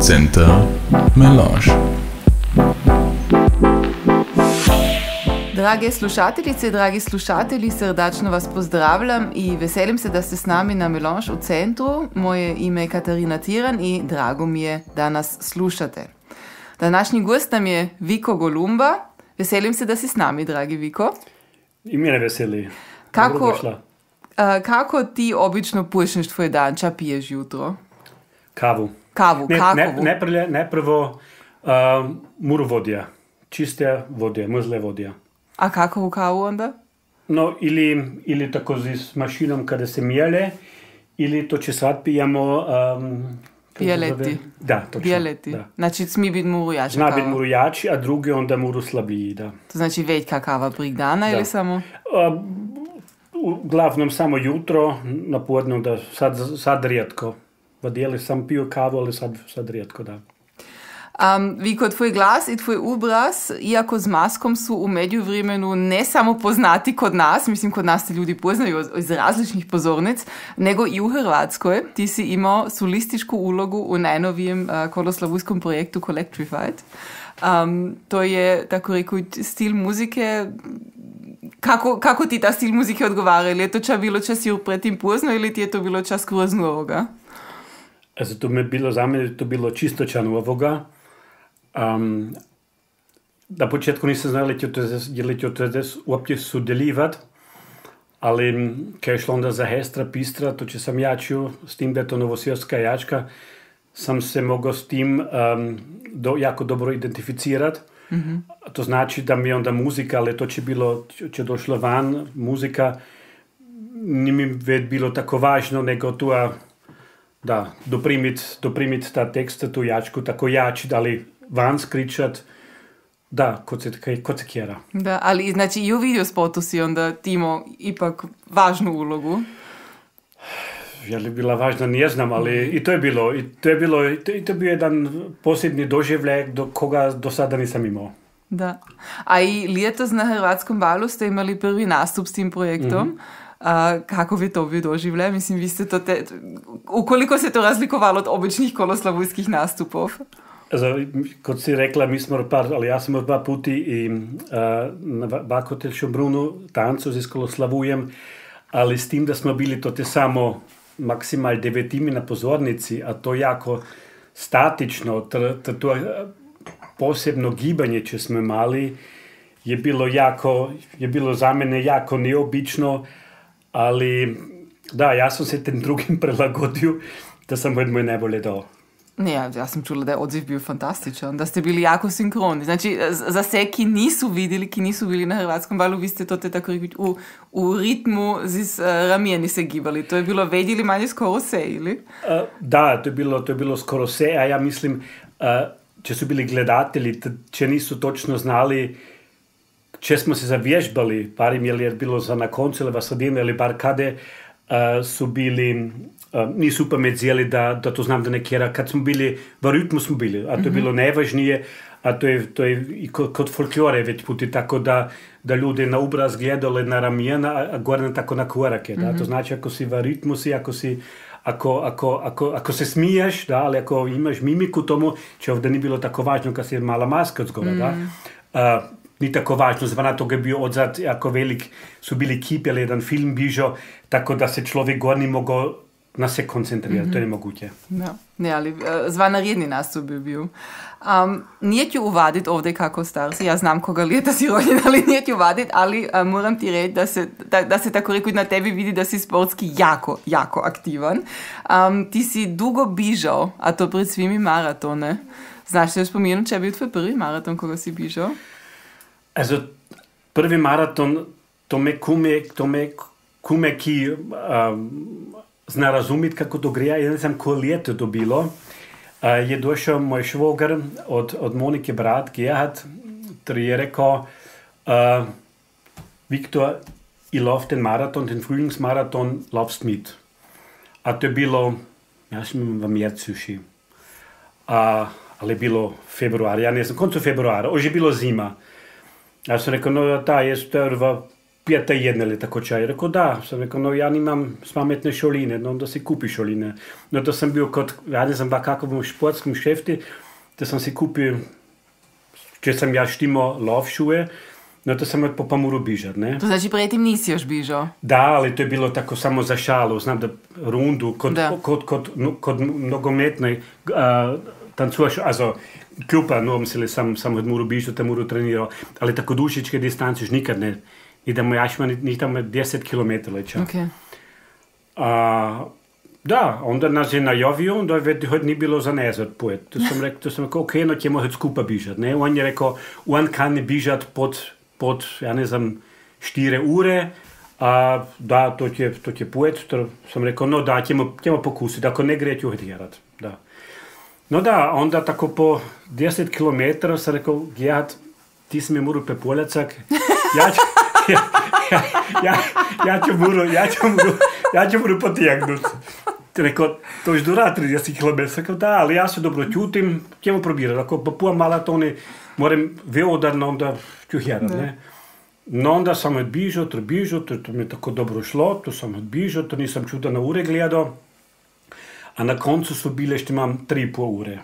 Center Melange. Drage slušateljice, dragi slušatelji, srdačno vas pozdravljam i veselim se da ste s nami na Melange u centru. Moje ime je Katarina Tiran i drago mi je da nas slušate. Današnji gost nam je Viko Golumba. Veselim se da si s nami, dragi Viko. I mene veseli. Kako ti obično počneš tvoj dan? Ča piješ jutro? Kavu. Kavu, kakovu? Najprvo muru vodija. Čiste vodija, mrzle vodija. A kakovu kavu onda? No, ili tako s mašinom kada se mijele, ili to će sad pijamo... Bijeleti. Da, točno. Bijeleti. Da. Znači, smi biti muru jača Zna kava. biti muru jači, a drugi onda muru slabiji, da. To znači veljka kava prek dana ili samo? Uglavnom samo jutro, na podne, da sad rijetko. Vadijeli sam pio kavu, ali sad rijetko, da. Viko, tvoj glas i tvoj obraz, iako z maskom, su u međuvremenu ne samo poznati kod nas, mislim kod nas ti ljudi poznaju iz različnih pozornic, nego i u Hrvatskoj. Ti si imao solističku ulogu u najnovijem koloslavujskom projektu Collectrified. To je, tako rekoč, stil muzike. Kako ti ta stil muzike odgovara? Ili je to bilo čas predtem pozno ili ti je to bilo čas skroz novoga? Also to mi je bilo za mene, to bilo čisto ča novoga. Na početku nisam znao li ću to uopće sudjelivati, ali kad je šlo onda za Hestra, Pistra, to će sam jačio, s tim da je to novosvjetska jačka, sam se mogao s tim jako dobro identificirati. Mm-hmm. To znači da mi onda muzika, ali to će došlo van, muzika, nije mi već bilo tako važno, nego tu da, doprimit ta teksta, tu jačku, tako jači, ali van skričat, da, kod se kjera. Da, ali znači i u videospotu si onda ti imao ipak važnu ulogu. Je li bila važna, ne znam, ali i to je bio jedan posebni doživljaj do koga do sada nisam imao. Da. A i letos na Hrvatskom balu ste imali prvi nastup s tim projektom. Mm-hmm. Kako bi to bio doživljaj? Mislim, vi ste to ukoliko se to razlikovalo od običnih koloslavujskih nastupov? Also, kot si rekla, ali ja sam dva puti i na Bakotel Šombrunu tancu z Koloslavujem, ali s tim da smo bili to te samo maksimal 9 na pozornici, a to jako statično, to posebno gibanje če smo imali, je bilo za mene jako neobično, ali da, ja sam se tem drugim prilagodio, da sam moj najbolje dao. Ne, ja sam čula da je odziv bio fantastičan, da ste bili jako sinkroni. Znači, za sve, ki nisu bili na Hrvatskom balu, vi ste to tako reći u ritmu z ramijeni se gibali. To je bilo vedjeli manje skoro vse, ili? Da, to je bilo skoro vse, a ja mislim, če su bili gledatelji, če nisu točno znali, če smo se zavježbali, parim je bilo za na koncu ili vasodine ili bar kade, su bili... nisu pametjeli da to znam da nekjera. Kad smo bili, v ritmu smo bili, a to je bilo najvažnije, a to je i kod folklore već puti tako da ljudi na obraz gledali na ramijena, a gore tako na korake. Da? To znači ako si v ritmu si, ako se smiješ, da, ali ako imaš mimiku tomu, če ovdje nije bilo tako važno kad si je mala maska od zgora, da. Ni tako važno, zvana toga je bio odzad jako velik, su bili kipi, ali jedan film bižo, tako da se človek gor ni mogao na se koncentrirati, to je nemoguće. Ja. Ne, ali zvanaredni nastup bi bil. Nije ću uvaditi ovdje kako star si, ja znam koga leta si rođen, ali nije ću uvaditi, ali moram ti reći da se tako reći na tebi vidi da si sportski jako, jako aktivan. Ti si dugo bižao, a to pred svimi maratone. Znaš se još spomenuti, če je bil tvoj prvi maraton, koga si bižao? Also, prvi maraton, to me kume ki zna razumjeti kako to gre. Ja ne znam, ko leto to bilo. Je došao moj švogar od Monike brat, Gerhard, ki je rekao Viktor, ich lauf den Marathon, den Frühlingsmarathon, laufst mit. A to je bilo, ja sam v mjercu še. Ali je bilo februar, ja ne znam, koncu februara, už je bilo zima. Ja sam rekao, no da, je to pijete jedne tako čaj. Rekao da, sam rekao, no ja nimam pametne šoline, no onda si kupi šoline. No to sam bio kod, ja ne znam kakvom športskom šefti, da sam si kupio, če sam ja štimo lovšuje, no to sam po Pamuru bižat, ne? To znači predtem nisi još bižao? Da, ali to je bilo tako samo za šalu, znam da rundu, kod nogometnej tancuaš, also klupa, no mislim, sam od Muru bižao, tam Muru trenirao, ali tako dušičke distanci još nikad ne. Idemo jašma, njih tamo 10 km leća. Okay. Da, onda nas je najavio, onda je nije bilo za nezad pojet. To sam rekao, ok, no ćemo hod skupa bižat, ne? On je rekao, on kan bižat pod, ja ne znam, 4 ure, da, to će pojet. To sam rekao, no da, ćemo pokusiti, ako ne gre, ću hod jerat, da. No da, onda tako po 10 km sam rekao, Gerhard, ti si mi moru pepoljacak, ja ću moru potijegnut. Rekao, to još dura 30 km. Rekao, da, ali ja se dobro čutim, ćemo probirati. Ako po pol maratoni moram veodarno, onda ću jerat, ne? No onda sam odbižao, to mi je tako dobro šlo, to sam odbižao, to nisam čuda na ure gledao, a na koncu su bile što imam 3,5 ure.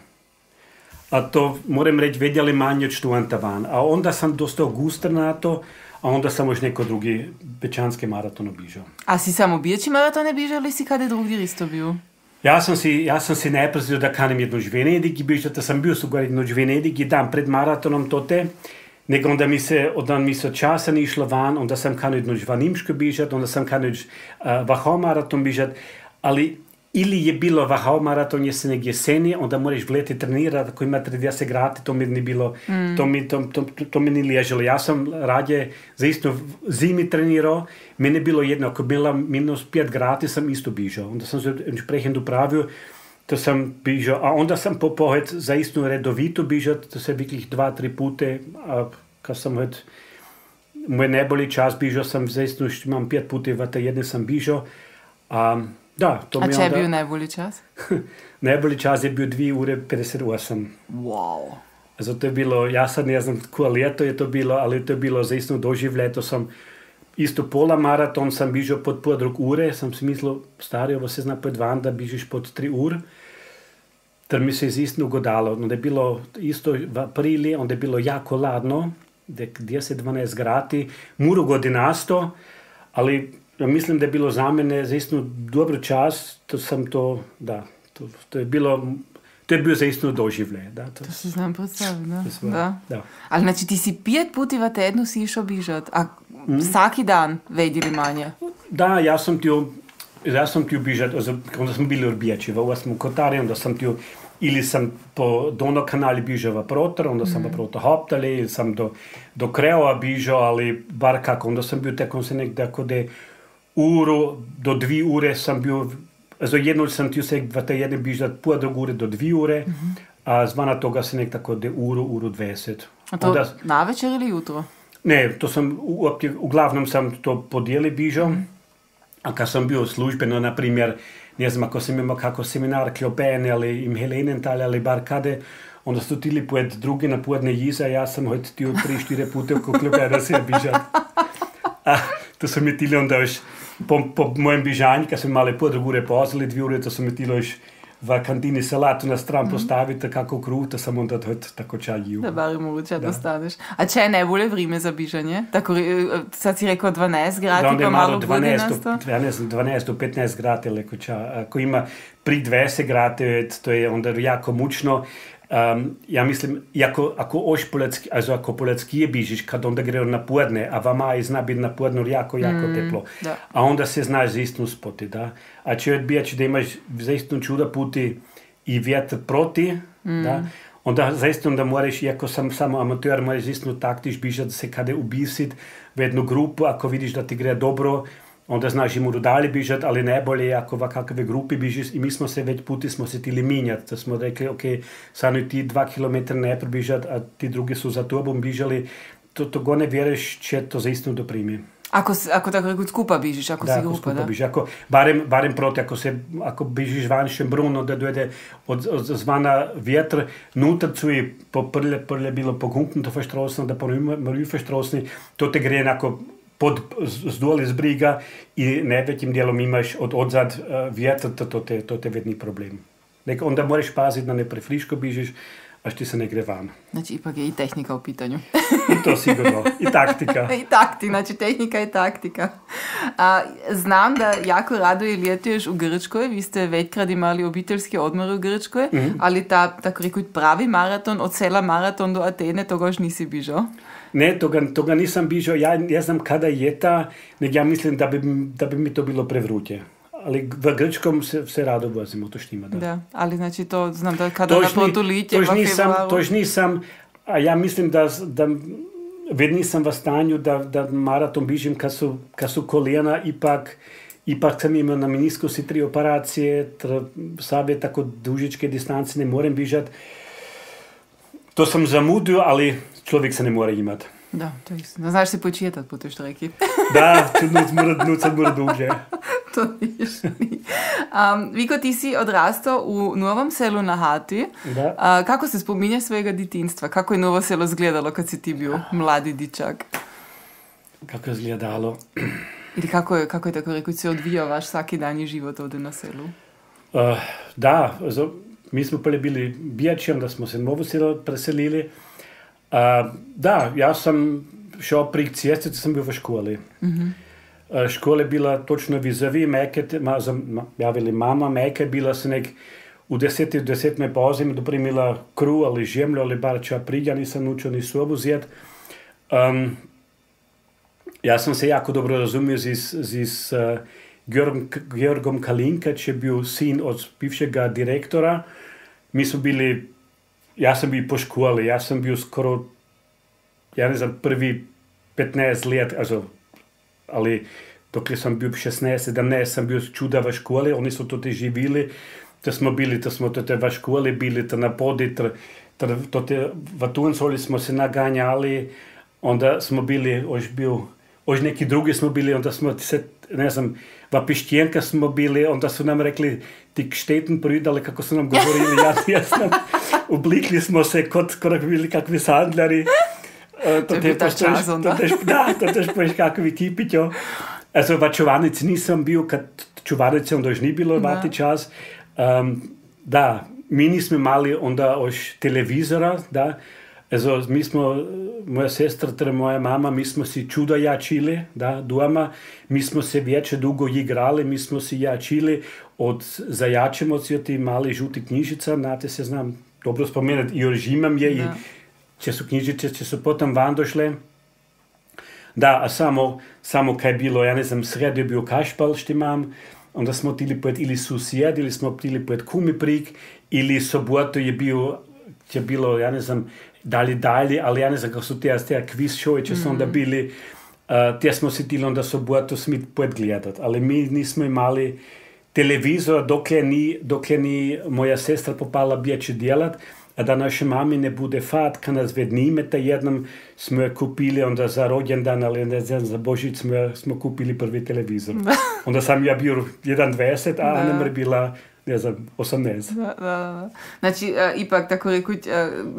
A to, moram reći, vedjeli manje od študenta van. A onda sam dosta gustar na to, a onda sam još neko drugi bečanski maraton obižao. A si samo bijači maratone bižao ili si kada drugdje isto bio? Ja sam si najprej da kanem jednoč Venedig i bižao, da sam bio sugar jednoč Venedig i dan pred maratonom tote, nego onda mi se časa ni išlo van, onda sam kanio jednoč Vanimško bižat, onda sam kanio Wachau maraton bižat, ali ili je bilo Wachau maraton jesenek jeseni, onda moraš v leti trenirati, ako ima 30 gradi, to mi ni bilo, to mi ni ležalo. Ja sam radije za isto zimi trenirao, meni je bilo jedno, ako je bila -5 gradi, sam isto bižao. Onda sam se prehend upravio, to sam bižao, a onda sam popohet za isto redovito bižat, to se vikih 2-3 pute, a kad sam moj najbolji čas bižao sam za isto, što imam 5 puta, vata jedne sam bižao, da, to mi a če je bil najbolji čas? Najbolji čas je bil 2 ure 58. Wow. Zato je bilo, ja sad ne znam koje leto je to bilo, ali to je bilo zaistno doživlje. To sam isto pola maraton sam bižao pod podrug ure, sam si mislil, stari, ovo se zna pod van, da bižiš pod 3 ur. Ter mi se je zaistno ugodalo. Onda je bilo isto v aprili, onda je bilo jako ladno, 10-12 gradi, muro godinasto, ali ja mislim, da je bilo za mene zaistno dobro čas, to je bio zaistno doživlje. Da, to si znam predstaviti, da. Ali znači ti si 5 puti v tednu si išao bižat, a vsaki dan vedili manje? Da, ja sam ti bižat, onda smo bili odbijači v 8. Kotari, onda sam ti ili sam po Donau-kanali bižao v Protor, onda sam v Protor hoptali, ili sam do Kreova bižao, ali bar kako, onda sam bio tekom se nekde kode uru do 2 ure sam bio, also jedno sam ti vseg v tej jedne bižat pol drug ure do 2 ure, a zvana toga se nek tako de uru 20. A to onda, na večer ili jutro? Ne, to sam, uglavnom sam to podijeli bižao, a kad sam bio službeno, na primjer, ne znam, ako sam imao kako seminar Klopene ali im Helenental ali bar kade, onda su tili pojed drugi na podne jiza, ja sam hojt tio 3-4 pute oko Klopene se bižat. A to su mi tili onda još po mojem bižanju, kad smo imali po drugu ure pozali, 2 ure, to su mi tili još v kantini salatu na stran postaviti, kako kruh, to sam onda tako čaj jil. Da bar mogoče dostaneš. A če je najbolje vrime za bižanje? Tako, sad si rekao 12 gradi, pa malo godinasto? 12 do 15 gradi, leko čaj. Ako ima pri 20 gradi, to je onda jako mučno. Ja mislim, ako poleckije bižiš, kad onda gre na podne, a vama je zna biti na podnu jako teplo. Da. A onda se znaš zaistno spoti, da. A če odbijaš da imaš zaistno čuda puti i vjetr proti, da, onda zaistno da moraš, iako sam samo amateur, moraš zaistno taktiš bižati se kada ubisit v jednu grupu, ako vidiš da ti gre dobro, onda znaš im dalje bižat, ali najbolje je ako v kakve grupi bižiš i mi smo se već puti smo se tili minjati, da smo rekli, ok, samo ti 2 km ne bižat, a ti drugi su za tobom bižali, to go ne vjeruješ če to zaistno doprimi. Ako tako rekao skupa bižiš, ako si grupa, da? Bižiš, barem proti, ako bižiš van Šembrun, onda dojde od zvana vjetr, nutar cuji po prlje bilo pogunknuto v štrosno, da po Marüfe štrosni, to te gre enako zdol iz briga i najvećim dijelom imaš odzad vjetar, to te vedni problem. Onda moraš paziti da ne prefriško bižiš, až ti se ne gre van. Znači, ipak je i tehnika u pitanju. I to sigurno. I taktika. I taktika, znači tehnika i taktika. Znam da jako rado ljetuješ u Grčkoj, vi ste većkrat imali obiteljski odmor u Grčkoj, ali tako reći pravi maraton, od sela maraton do Atene, toga još nisi bižao? Ne, toga nisam bižao. Ja ne znam kada je ta, nego ja mislim da bi mi to bilo prevruće. Ali v Grčkom se rado vozimo, to štima, da. Da, ali znači to znam da kada naprotu litje v februaru. Tož nisam, a ja mislim da vedno nisam v stanju da maraton bižim kad su kolijena, ipak sam imao na meniskusi 3 operacije, sabe tako dužičke distance ne morem bižati. To sam zamudio, ali človek se ne mora imati. Da, to je istina. Znaš se početati po toj štreki. Da, nucat mora duže. To niš. Viko, ti si odrastao u Novom Selu na Hati. Da. Kako se spominjaš svojega detinjstva? Kako je Novo Selo izgledalo kad si ti bio mladi dičak? Kako je izgledalo? Ili kako je tako rekoč se odvijao vaš vsakidanji život ovdje na selu? Da, mi smo prvi bili bijači, onda smo se u Novo Selo preselili. Da, ja sam šao prek ceste, sam bil v školi. Škola je bila točno vizavi, ja velim mama, Meka je bila se nek v 10 pauzi mi doprimila kruh ali žemljo ali bar ča pridja, nisam naučil ni sobu zjet. Ja sam se jako dobro razumio z Georgom Kalinkač, je bil sin od bivšega direktora. Mi smo bili, ja sam bil po školi, ja sam bil skoro, ja ne znam, prvi 15 let, ali dokler sam bil 16-17, sam bil čuda v školi, oni so to živili, da smo v školi bili, na podi, v Tuncoli smo se naganjali, onda smo bili, ož neki drugi smo bili, onda smo se, ne znam, v Pištjenka smo bili, onda su nam rekli, ti šteten pridali, kako su nam govorili, jasno, oblikli smo se kot bili kakvi sandljari. To je bil ta čas onda. Da, to tež poješ kakvi kipićo. V čuvanici nisam bil, kad čuvanice onda još ni bilo vati čas. Da, mi nismo imali onda još televizora, da. Mi smo, moja sestra, teda moja mama, mi smo si čudo jačili, da, doma. Mi smo se vječe dugo igrali, mi smo si jačili od zajačemoci, od ti mali žuti knjižica, znate se znam dobro spomenuti, i oržimam je, da. I če su knjižice, če su potom van došle. Da, a samo kaj bilo, ja ne znam, sredo je bio kašpal, što imam, onda smo tili pojet ili susjed, ili smo tili pojet kumi prik, ili soboto je bilo, ja ne znam, dalje, ali ja ne znam kako su te quiz show, če su onda bili, te smo si tili onda soboto smit pojet gledat, ali mi nismo imali televizora, dokle ni moja sestra popala bijeće djelat, a da naše mami ne bude fat, kad nas vednimeta, jednom smo je kupili onda za rođendan, ali ne znam, za Božić smo kupili prvi televizor. Onda sam ja bio 1,20, a Ana je bila, ne znam, 18. Da. Znači, ipak, tako rekuć,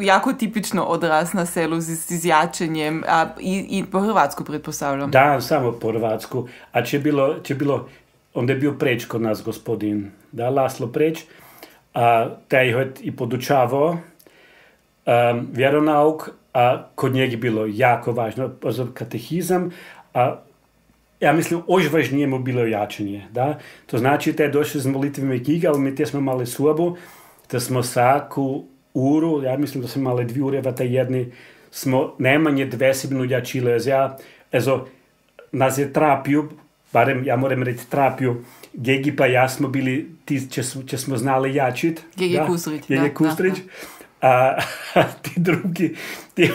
jako tipično odraz na selu z jačenjem, i po Hrvatsku pretpostavljam. Da, samo po Hrvatsku. A če bilo, onda je bio Preč kod nas gospodin, da, Laslo Preč, taj je i podučavao vjeronauk, a kod njeg je bilo jako važno katehizam, a ja mislim, još važnije mu bilo jačanje. Da? To znači da je došli z molitvima knjiga, ali mi te smo imali sobu, da smo svaku uru, ja mislim da smo imali 2 ure, v taj jedni smo najmanje 20 minut jačili. Nas je trapio, barem ja moram reći trapio, Gegi pa ja smo bili ti, če smo znali jačit. Gegi Kustrić. Gegi Kustrić. A ti drugi, ti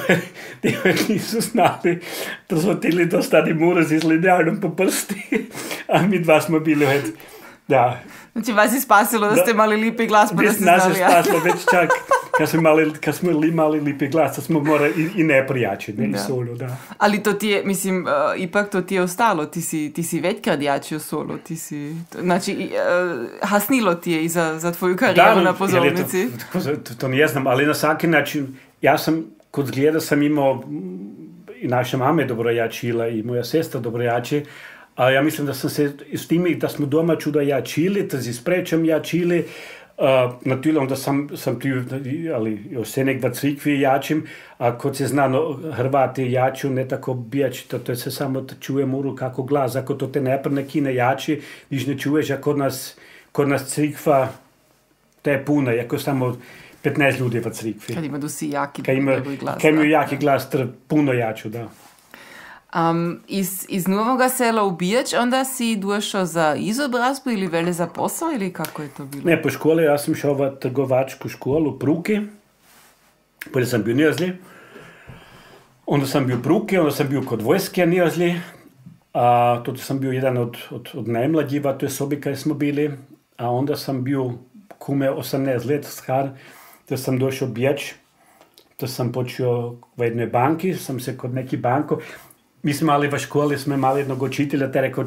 nisu znali, da smo tili dostati murac z linearnom po prsti, a mi dva smo bili, da. Znači vas je spasilo da ste imali lipi glas, pa da ste znali. Nas je spasilo već čak, kad smo imali lipi glas, da smo morali i ne prijačiti, ne i solo, da. Ali to ti je, mislim, ipak to ti je ostalo, ti si većkrat jačio solo, znači, hasnilo ti je i za tvoju karijeru na pozornici. To ne znam, ali na svaki način, ja sam, kod zgleda sam imao i naša mama je dobro jačila i moja sestra dobro jači, a ja mislim da sam se s time da smo doma čudo jačili, da si sprečam jačili, natürlich, onda sam ali još se nekva crikvi jačim, a kod se znano Hrvati jaču, ne tako bijači, to se samo da čujemo uru kako glas, ako to te ne kine jači, když ne čuješ, a kod nas crikva, to je puna, jako samo 15 ljudi v crikvi. Kad ima dosi jaki glas. Kad imaju jaki glas, puno jaču, da. Iz Novoga Sela u Bijač onda si došao za izobrazbu ili vele za posao ili kako je to bilo? Ne, po škole ja sam šao v trgovačku školu u Pruki, potem sam bio nijazli, onda sam bio u Pruki, onda sam bio kod vojske nijazli, a to sam bio jedan od najmlađiva, to je sobi kaj smo bili, a onda sam bio kume 18 let star, da sam došao u Bijač, da sam počeo v jednoj banki, sam se kod neki banko, mi smo imali v školi, smo imali jednog učitelja, te rekao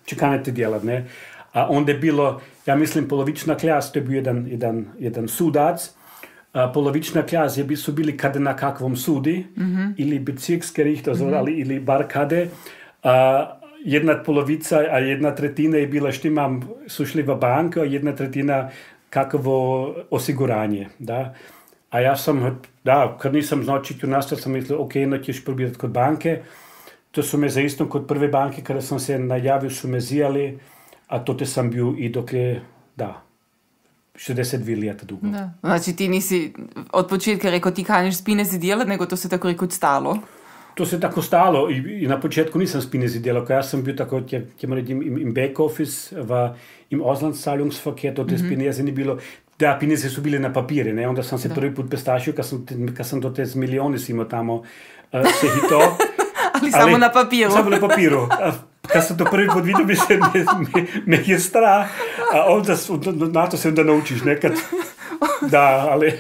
čekanete djelat, ne. A onda je bilo, ja mislim, polovična klas, to je bio jedan sudac, polovična klas su bili kada na kakvom sudi, ili Bezirksgericht, ili bar kade, jedna polovica, a jedna tretina je bila što imam, su šli v banku, a jedna tretina kakvo osiguranje, da. A ja sam, kad nisam znao čiti u nastav, sam mislio, ok, ćeš probirati kod banke. To su me za istom kod prve banke, kada sam se najavio, su me zijali, a to te sam bio i dok je, 62 leta dugo. Da. Znači ti nisi od početka rekao ti kaniš spinezi djelat, nego to se tako rekao stalo? To se tako stalo i na početku nisam spinezi djelao, ja sam bio tako, im back office, im Auslandszahlungsverkehr, to te spinezi ni bilo. Da, pineze su bile na papiri, ne? Onda sam se prvi put pestašio, kad sam do te milijoni imao tamo se hito. ali samo na papiru. Samo na papiru. Kad sam to prvi put vidio, me je strah, a onda na to se onda naučiš nekad. Da, ali...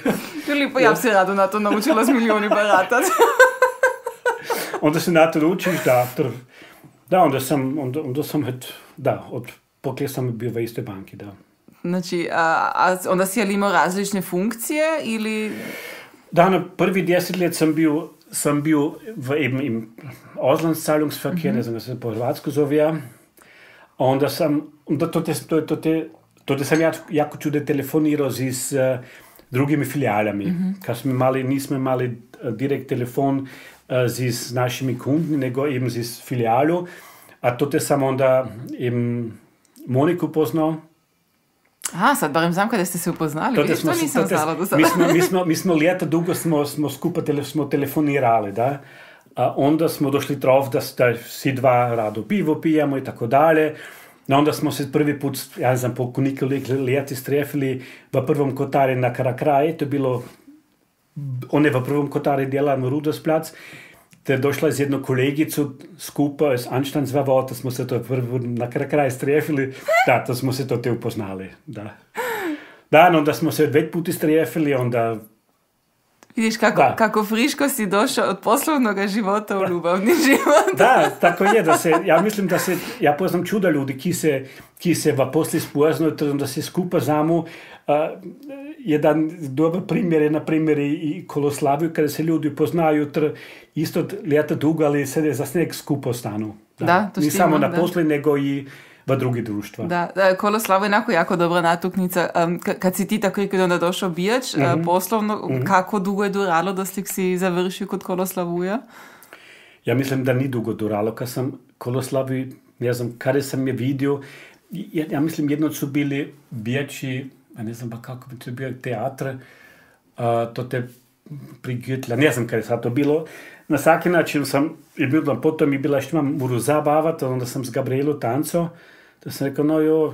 Filipo, ja bi se rado na to naučila s milijoni baratati. Onda se na to naučiš, onda sam, poklje sam bio v istoj banki, da. Znači, onda si imao različne funkcije ili... Da, na prvi 10 let sam bio v im Auslandszahlungsverkehr, ne znam, se po hrvatsko zove, onda to sam jako čude telefonirao s drugimi filijalami. Kad nismo imali direkt telefon s našimi kundi, nego im s filijalu, a to sam onda im Moniku poznao. Aha, sad barem znam kada ste se upoznali, to nisam znala do sada. Mi smo leta dugo smo skupa telefonirali, da. A onda smo došli trov da si dva rado pivo pijemo i tako dalje. Onda smo se prvi put, ja ne znam, po nekoliko leti strefili v prvom kotari na Karakraji, to je bilo, on je v prvom kotari delal na Rudolfsplatz, te došla z jedno kolegico skupaj s Anstandsvavo, da smo se to na Karakraji strefili, da smo se to te upoznali, da. Da, onda smo se več puti strefili, onda... Vidiš kako friško si došao od poslovnog života u ljubavni život. Da, tako je, ja poznam čuda ljudi, ki se v posli spoznajo, da se skupaj znamo. Jedan dobar primjer je, na primjer, i Koloslaviju, kada se ljudi poznaju, isto leta dugo, ali se za sneg skupaj stanu. Da, to ni samo na posli, nego i v drugi društva. Da, Koloslavo je onako jako dobra natuknica. Kad si ti tako rekao da onda došao Bijač, poslovno, kako dugo je duralo da si završio kod Koloslavuja? Ja mislim da ni dugo duralo. Kad sam Koloslavi, ne znam, kada sam je vidio, ja mislim jedno su bili Bijači, ne znam pa kako bi to bio teatr, to te prigutila, ne znam kada je sad to bilo. Na svaki način potom je bila što imam moru zabavati, onda sam s Gabrielu tanco, da sam rekao,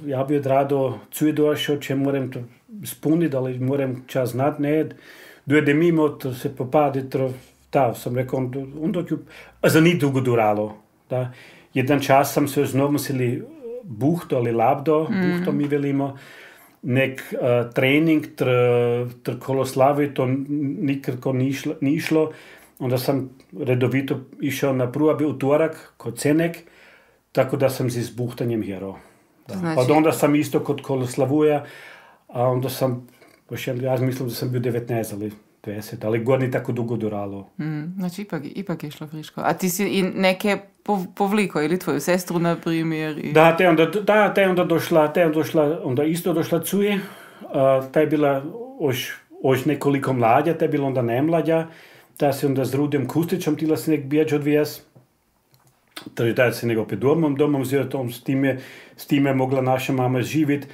ja bi rado cuj došao, če moram to spuniti, ali moram čas znati, ne, dojde mimo, to se popadi, sam rekao, onda ću, za ni dugo duralo, da. Jedan čas sam se znovu musili buhto ali labdo, buhto mi velimo, nek trening tr Koloslavi, to nikako ni išlo. Onda sam redovito išao na pruabi utorak kod Cenek, tako da sam s buhtanjem herao. Znači... Onda sam isto kod Koloslavuja, a onda sam, ja mislim da sam bio 19, ali 20, ali gore ni tako dugo duralo. Znači, ipak je šlo friško. A ti si i neke povliko, ili tvoju sestru, na primjer? Da, te je onda došla, onda isto došla cuje. Ta je bila još nekoliko mlađa, ta je bila onda nemlađa. Ta se onda s Rudem Kustićom tila se nek bijeć odvijes. Takže da se nek opet domom zjetom, s time mogla naša mama živjeti.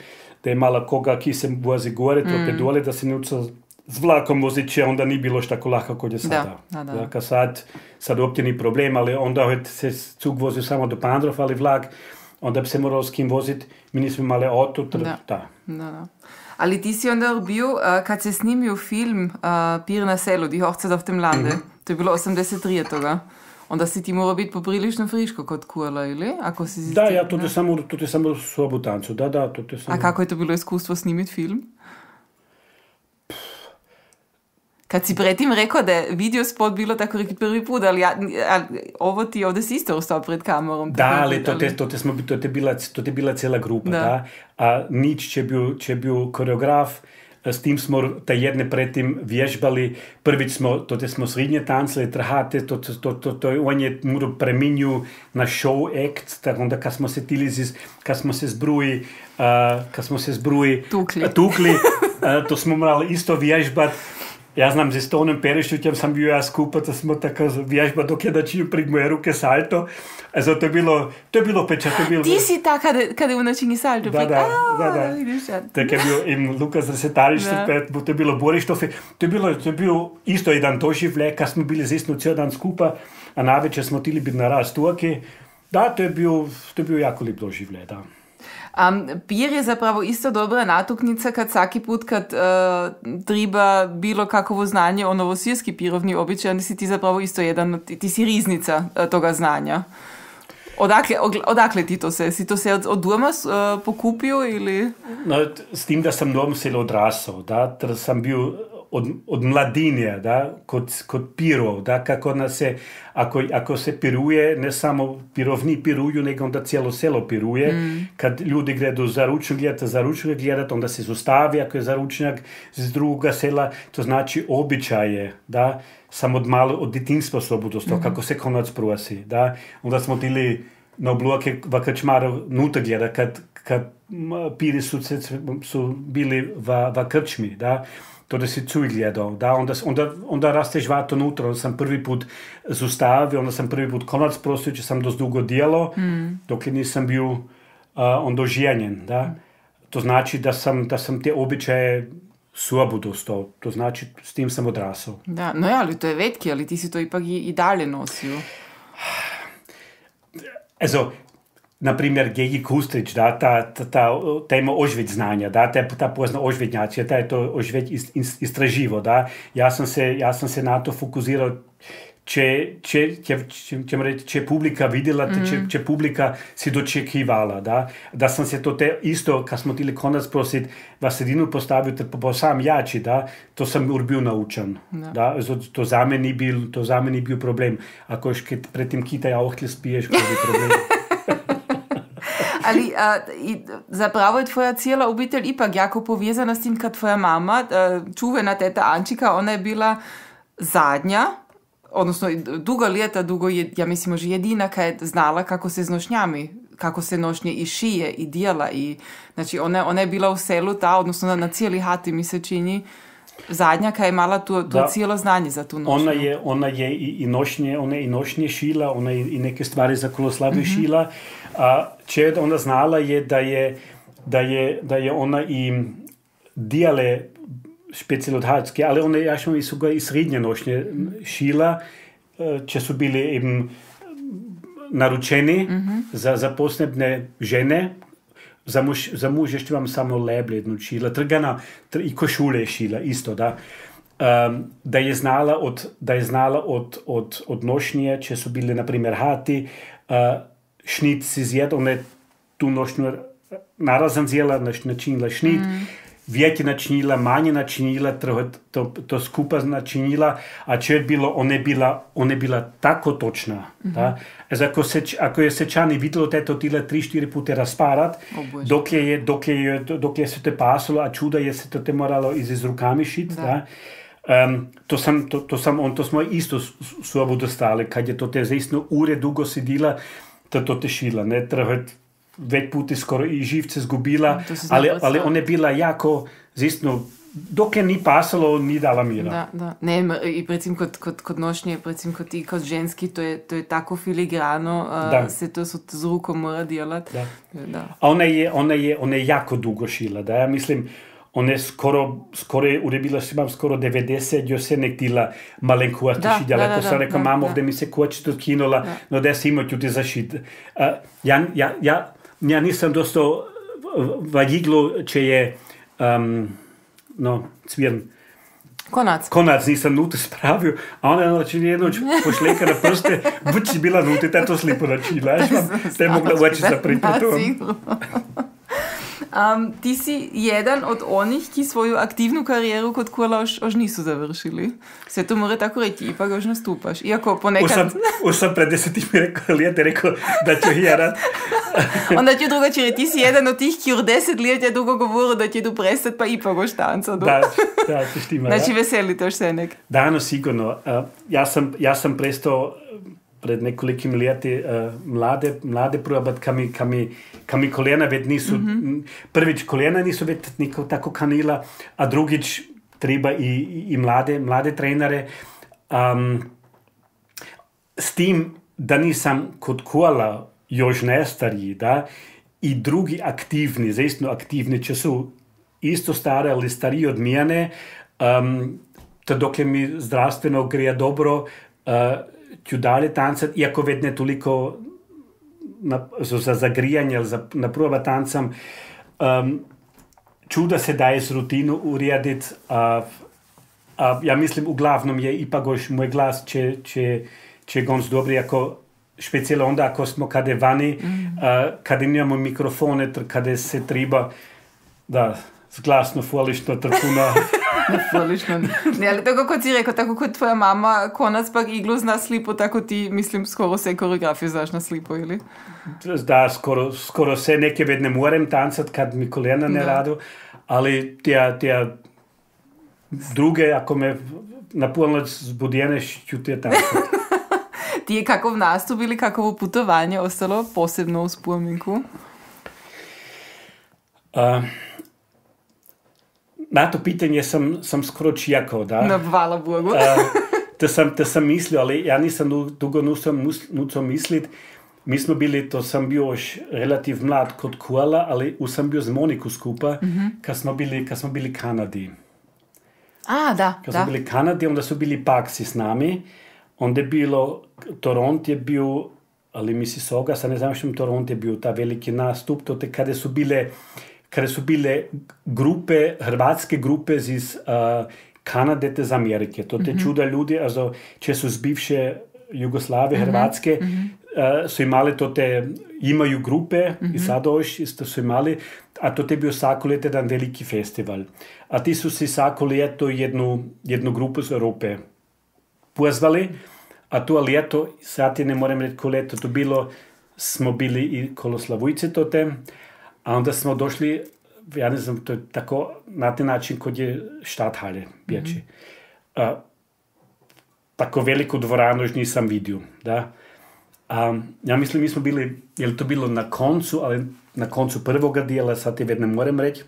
Da je mala koga ki se vozi gore, to opet dole, da se ne učila s vlakom vozit, onda ni bilo što tako lako kod je sada. Da. Sad uopće ni problem, ali onda se cug vozio samo do Pandrov, ali vlak, onda bi se moralo s kim voziti. Mi nismo imali auto. Da. Ali ti si onda bio, kad se snimio film Pir na selu, Die Hochzeit auf dem Lande, to je bilo 83 toga. Onda si ti morao biti poprilično friško kod kurla, ili? Ako si da, ja, to je samo sobu tancu. Da, to je samo... A kako je to bilo iskustvo snimiti film? Kad si pretim rekao da je video spot bilo tako reki prvi put, ali ovo ti ovdje si isto ostao pred kamerom. Da, ali to je bila cijela grupa, da. A Nič če bil koreograf, s tim smo ta jedne predtem vježbali, prvič smo srednje tancali, trhate, on je moral preminju na show act, tako onda kad smo se zbruji tukli, to smo morali isto vježbati. Ja znam, z Stonom Perišćućem sam bio ja skupa, to smo tako vježba dok je načinio pred moje ruke salto. Also, to je bilo peča. Ti si ta kada je načinio salto. Da. Tako je bio im Lukas Resetarić, to je bilo Borištofi. To je bio isto jedan doživljaj, kad smo bili zistno cijel dan skupa, a navečer smo tili biti na Rastuaki. Da, to je bio jako lijep doživljaj, da. Pir je zapravo isto dobra natuknica kad svaki put kad treba bilo kakovo znanje o novosirski pirovni običaj, onda si ti zapravo isto ti si riznica toga znanja. Odakle ti to se? Si to se od doma pokupio ili? No, s tim da sam doma se odrasao, da, ter sam bio od mladinja, da, kod pirov, da, kako ako se piruje, ne samo pirovni piruju, nego onda cijelo selo piruje. Kad ljudi gredu za ručnjak gledati, onda se zostavi, ako je za ručnjak z drugoga sela, to znači običaje, da, sam od detinjstva slobodostao, kako se konac prosi, da, onda smo tili na obloke v krčmaru nuta gleda, kad piri su bili v krčmi, da, to da si cuj gledal, da, onda rasteš vato nutra, onda sam prvi put zustavio, onda sam prvi put konac prosio, če sam dost dugo dijelo, dok nisam bio onda oženjen, da. To znači da sam te običaje slobodostao, to znači s tim sam odrasao. Da, no ja, ali to je vetki, ali ti si to ipak i dalje nosio. Also, na primjer, Gegi Kustrić, da, ta ima ožveć znanja, da, ta pozna ožvetnjačija, ta je to ožveć istraživo, da. Ja sam se na to fokusirao, če publika vidjela, če publika si dočekivala, da sam se to isto, kad smo tili konac prosit, v sredinu postavil, pa sam jači, da, to sam bil naučen, da, to za me ni bil problem, ako još pred tim kita ohtlje spiješ, ko bi problem. Ali zapravo je tvoja cijela obitelj ipak jako povezana s tim, kad tvoja mama, čuvena teta Ančika, ona je bila zadnja, odnosno dugo ljeta, ja mislim možda jedina kad je znala kako se s nošnjami, kako se nošnje i šije i dijela. Znači ona je bila u selu odnosno na cijeli hati mi se čini zadnja kad je imala to cijelo znanje za tu nošnju. Ona je i nošnje šila, ona je i neke stvari za Koloslaviju šila. A če ona znala je da je ona i dijale specijalodhatske, ali one ja šmo i srednje nošnje šila, če su bili naručeni za posebne žene. Za muž ještě vam samo leble jednu šila, trgana i košule šila, isto, da. Da je znala od nošnje, če su bili, na primjer, hati, šnit si zjed, ona je tu nošnju narazan zjela, načinila šnit, vjetje načinila, manje načinila, to skupa načinila, a če je bilo, ona je bila tako točna. Da? Ako je sečani videlo teto tile 3-4 pute rasparat, dok je se te pasalo, a čuda je se to te moralo iz rukami šit, da? To smo isto sobu dostali, kad je to te zaistno ure dugo sedila, to tešila, ne, več puti skoro i živce zgubila, ali ona je bila jako, zaistno, dok je ni pasalo, ni dala mira. Da. Ne, i recimo kod nošnje, recimo kod ti, kod ženski, to je tako filigrano, se to z rukom mora djelat. Da. A ona je jako dugo šila, da, ja mislim, ona je skoro je urebila, imam skoro 90, jo se nek dila malenkosti šidjala. Ko sam rekao, mamo, ovdje mi se kočito skinula, no da se imao ću ti zašit. Ja nisam dostao vadjiglu, če je cvirn. Konac nisam nuti spravio, a ona je jednoć pošleka na prste, buď bila nuti, ta to slipo načila. Te je mogla ući sa pripretom. Ti si jedan od onih, ki svoju aktivnu karijeru kod kurla už nisu završili. Sve to mora tako reći, ipak už nastupaš. Iako ponekad... Už sam pred 10 lijete rekao da ću hjerat. Onda ću drugače reći, ti si jedan od tih, ki už 10 lijete dugo govoru da će tu prestat, pa ipak už tanca. Da, to štima. Znači veseli to še nek. Da, no sigurno. Ja sam prestao pred nekolikim lijeti mlade probat, ka mi koljena već nisu, prvič koljena nisu već nikako tako kanila, a drugič treba i mlade trenere. S tim, da nisam kod kola još nestariji, da, i drugi aktivni, zaistno aktivni, če su isto stare, ali stariji od mene, to dokle mi zdravstveno greja dobro, ću dalje tancat, iako već ne toliko za zagrijanje, ali na prva tancam, ću da se daje s rutinu uredit, ja mislim uglavnom je ipak još moj glas će gonc dobri, ako specijalno onda ako smo kade vani, kada imamo mikrofone, kada se treba da glasno folično trpuna. Folično. Ne, ali tako kot si rekao, tako kot tvoja mama konac pak iglu zna slipo, tako ti, mislim, skoro se koreografiju znaš na slipo, ili? Da, skoro se neke već ne morem tancat kad mi koljena ne radu, ali tija druge, ako me na polnoć zbudjeneš, ću tija tancat. Ti je kakov nastup ili kakovo putovanje ostalo posebno u spominku? Na to pitanje sam skoro čekao, da. No, hvala Bogu. To sam mislio, ali ja nisam dugo nuco mislit. Mi smo bili, to sam bio još relativ mlad kod kola, ali sam bio z Moniku skupa, kad smo bili Kanadi. Da. Kad smo bili Kanadi, onda su bili Paksi s nami. Onda je bilo, Toronto je bio, ali Mississauga, sad ne znam što Toronto je bio ta veliki nastup, to te kada su bile grupe, hrvatske grupe iz Kanade iz Amerike. To te čuda ljudi, also, če su z bivše Jugoslavije, Hrvatske, su imali imaju grupe, i sada još isto su imali, a to je bio svako ljeto jedan veliki festival. A ti su si svako ljeto jednu grupu iz Europe pozvali, a to ljeto, sad ti ne moram reći ko ljeto to bilo, smo bili i kolo Slavujce a onda smo došli, ja ne znam, to je tako na taj način kod je Stadthalle Bječi. Tako veliku dvoranu još nisam vidio, da. Ja mislim, mi smo bili, je li to bilo na koncu, ali na koncu prvoga dijela, sad ti već ne moram reći.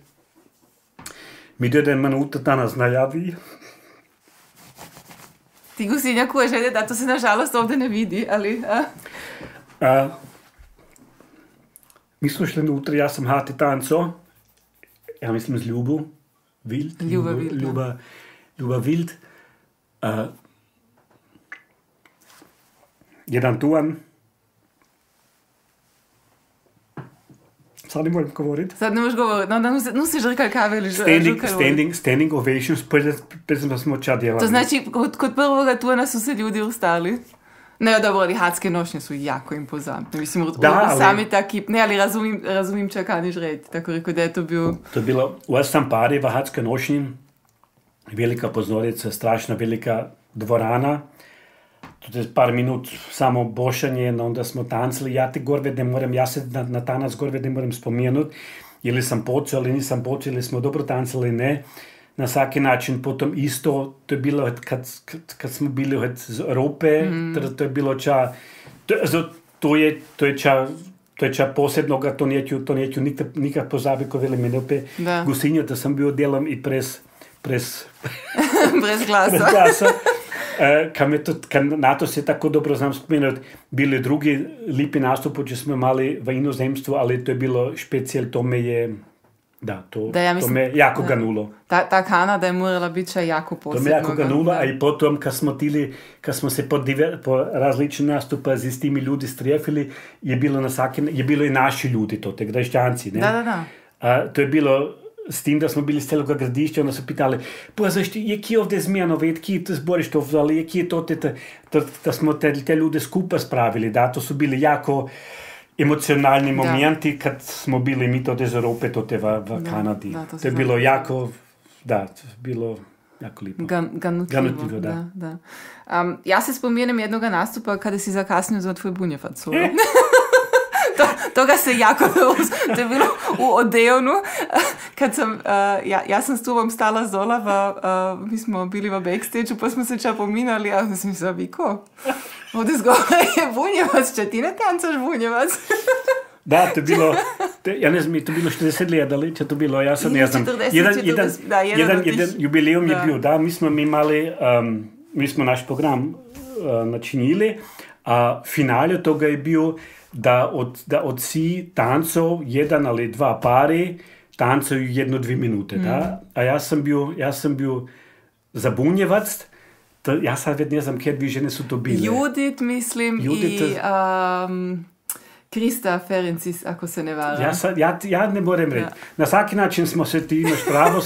Mi do 1 minuta danas najavi. Ti gusinja želje, da to se nažalost ovdje ne vidi, ali... Mi smo šli unutra, ja sam hati tanco, ja mislim z Ljubu Wild. Ljuba Wild. Jedan tuan. Sad ne moram govoriti. Sad ne možeš govoriti, no da si žrkal kave ili standing ovations, predzim smo ča djelali. To znači, kod prvoga tuana su se ljudi ustali. Ne, dobro, ali hadske nošnje su jako impozantne. Mislim, sami taki, ne, ali razumim če kaniš reći, tako rekao da je to bio... To je bilo, u sam pari v hadske nošnji, velika pozornica, strašna velika dvorana, to je par minut samo bošanje, onda smo tancili, ja se na tanac gorve ne moram spomenut, ili sam počeo, ali nisam počeo, ili smo dobro tancili, ne. na svaki način potom isto, to je bilo kad smo bili z Evrope, to je bilo to je ča posebnoga, to neću nikad pozabiti, ko veli Menope Gusinjo, da sam bio delom i pres glasa. Kad na to se tako dobro znam spomenuti, bili drugi lipi nastup, če smo imali v inozemstvu, ali to je bilo špecijal, to me je to me jako ganulo. Ta Kanada je morala biti jako posebno. To me jako ganulo, a i potom kad smo se po različnim nastupa z istimi ljudi strefili, je bilo i naši ljudi, to te Graščanci. Ne? Da. To je bilo s tim, da smo bili z celoga gradišća, onda su pitali, pa zašto, je ki ovdje zmijano, ki te zboriš to, ali je ki to, da smo te ljude skupa spravili, da, to su bili jako emocionalni momenti, kad smo bili mi to iz Europe, to te v Kanadi. To je bilo jako, bilo jako lipo. Ganutljivo, da. Ja se spomenem jednoga nastupa kada si zakasnio za tvoj bunjevac. Toga se jako dobro, to je bilo u Odeonu, kad sam, ja sam s tobom stala zola, mi smo bili v backstage-u, pa smo se ča pominali, a sam mislila, Viko, ovdje zgore je bunjevac, če ti ne tancaš bunjevac? Da, to je bilo, ja ne znam, to je bilo 40 let, ali če to bilo, ja sad ne znam. Jedan jubilejum je bil, da, mi smo naš program načinili, a finale toga je bil, da od si tancov, jedan ali dva pari, tancaju 1-2 minute, da? A ja sam bil za bunjevac, ja sad već ne znam kje dvi žene su to bile. Judit, mislim, i Krista Ferencis, ako se ne varam. Ja ne moram reći. Na svaki način smo se, ti imaš pravo,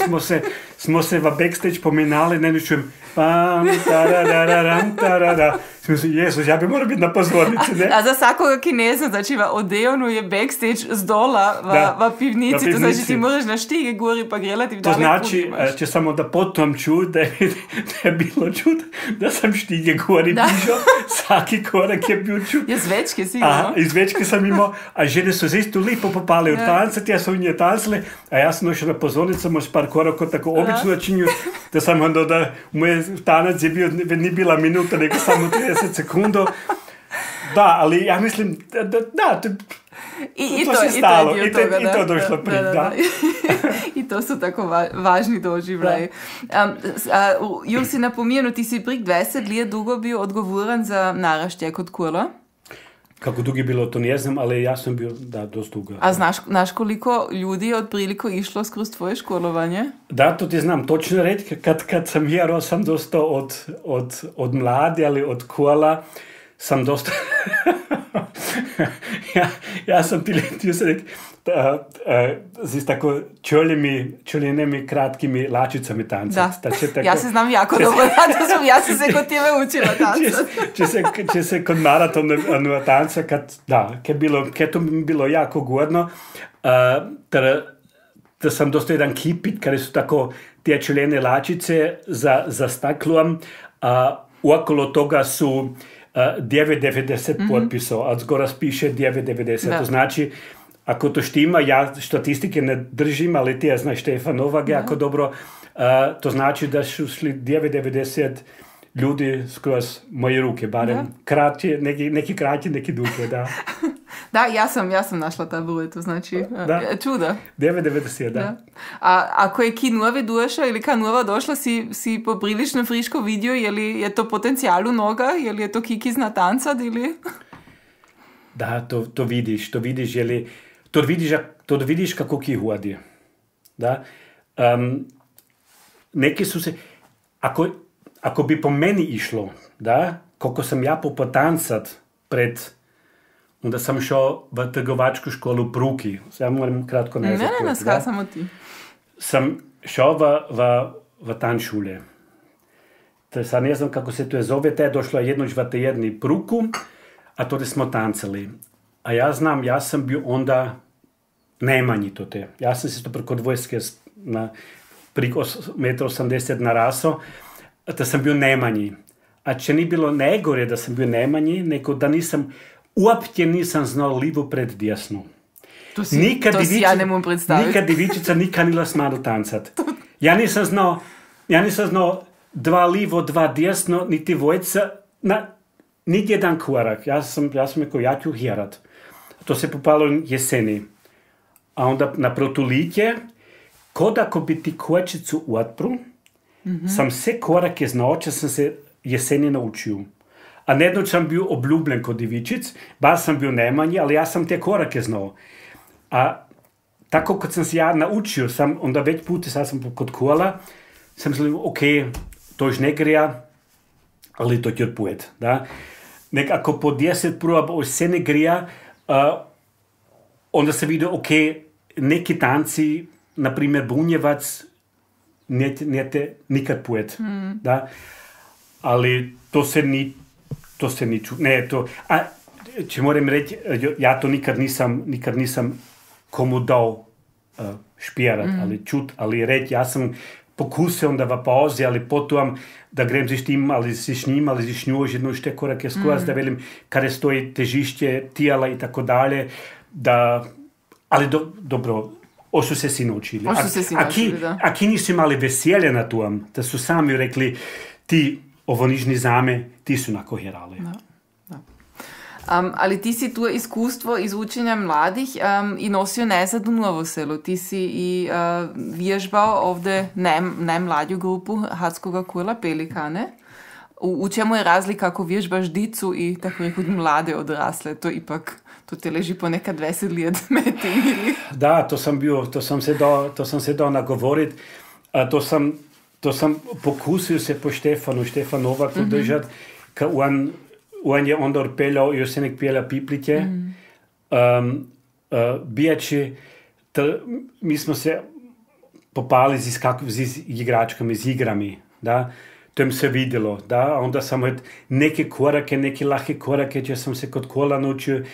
smo se v backstage pominali, ne čujem pam, tarararam, tarara. Jezus, ja bi morao biti na pozornici, ne? A za svakoga ki ne zna, znači v Odeonu je backstage z dola v pivnici, to znači ti moraš na štige gori pa relativ daleko. To znači, če samo da potom ču, da je bilo čud, da sam štige gori pišao, svaki korak je bio čud. Je zvečke sigurno. Iz zvečke sam imao, a žene su isto lipo popale od tancati, ja sam u nje tancile, a ja sam došao na pozornicu, možda par koraka tako obično načinju, da sam onda da moj tanac je bio, ni bila minuta, nego samo 30 sekundo. Da, ali ja mislim, I to se stalo, i to došlo prije, da. I to su tako važni doživljaji. Jul si napomenu, ti si prek 20 let dugo bio odgovoran za naraštaj kod Kola. Kako dugo je bilo, to ne znam, ali ja sam bio, dosta dugo. A znaš koliko ljudi je otprilike išlo skroz tvoje školovanje? Da, to ti znam točno reći. Kad sam jero, sam dosta od mladi, ali od Kola, sam dosta... ja sam ti se rekao, z tako čoljenimi kratkimi lačicami tancati. Da, ja se znam jako dobro, ja sam se kod tebe učila tancati. Če se kod maratona tanca, kad to mi bilo jako godno, da sam dosta jedan kipit, kada su tako te čoljene lačice za staklom, okolo toga su 9,90 potpisao, a zgora piše 9,90. To znači, ako to štima, ja statistike ne držim, ali ti ja znaš Štefan Novak jako dobro, to znači da su šli 9,90 ljudi skroz moje ruke, barem kraće, neki kraće, neki duge, da. Da, ja sam našla ta broj, to znači čudo. 9,90, da. A ako je ki nove došla ili ka nova došla, si poprilično friško vidio, je to potencijal u noga, je to ki zna tancat ili... Da, to vidiš, to vidiš kako ki hodi. Da? Neki su se, ako bi po meni išlo, da, koliko sam ja potancat onda sam šao v trgovačku školu Pruki. Ja moram kratko nazad. Ne, samo ti. Sam šao v tanšule. Sad ne znam kako se to je zove, te je došla jednoć v jedni Pruku, a to smo tancali. A ja znam, ja sam bio onda najmanji to te. Ja sam se to preko dvojske preko 1,80 m narasao, da sam bio najmanji. A če ni bilo najgore da sam bio najmanji, nego da uopće nisam znao livo pred desno. To si ja ne mogu predstaviti. Nikad divičica nikad nila smadu tancat. Ja nisam znao dva livo, dva desno, niti dvojca, niti jedan korak. Ja sam rekao, ja ću herat. To se popalo jeseni. A onda na protulitje, kod ako bi ti kočicu otpru, sam sve korake znao, če sam se jeseni naučio. A nedno sam bio obljubljen kod divičic, bar sam bio najmanji, ali ja sam te korake znao. A tako kad sam se ja naučio, onda već puta sad sam kod kola, sam mislio, ok, to još ne grija, ali to će odpujet. Da? Nek ako po 10 proba se ne grija, onda se vidi, ok, neki tanci, na primjer bunjevac, nete nikad pujet. Da? Ali to se ni ne, to, če moram reći, ja to nikad nisam komu dao špirat, ali čut, ali reći, ja sam pokusio onda v pauzi, ali potom da grem si štim, ali si šnjim, ali si šnjuo jedno šte korake skroz, da velim, kada stoji težišće tijela i tako dalje, da, ali dobro, ošto se si naučili. A ki nisu imali veselje na tom, da su sami rekli, ti ovo nižni zame, ti su nakoherali. Da. Ali ti si tu iskustvo iz učenja mladih i nosio nazad u Novo Selo. Ti si i vježbao ovdje najmlađu grupu Hatskoga kola Pelikane. U čemu je razlika ako vježbaš dicu i tako rekao mlade odrasle? To ipak, to te leži ponekad 20 let meti. Da, to sam se dao nagovorit. To sam pokusil se po Štefan Novaku držat, ka on je onda odpeljao, još se nek pjelja piplitje, bijači, mi smo se popali z igračkami, z igrami, da, to im se vidjelo, da, onda sam neke lahe korake, če sam se kod kola naučio,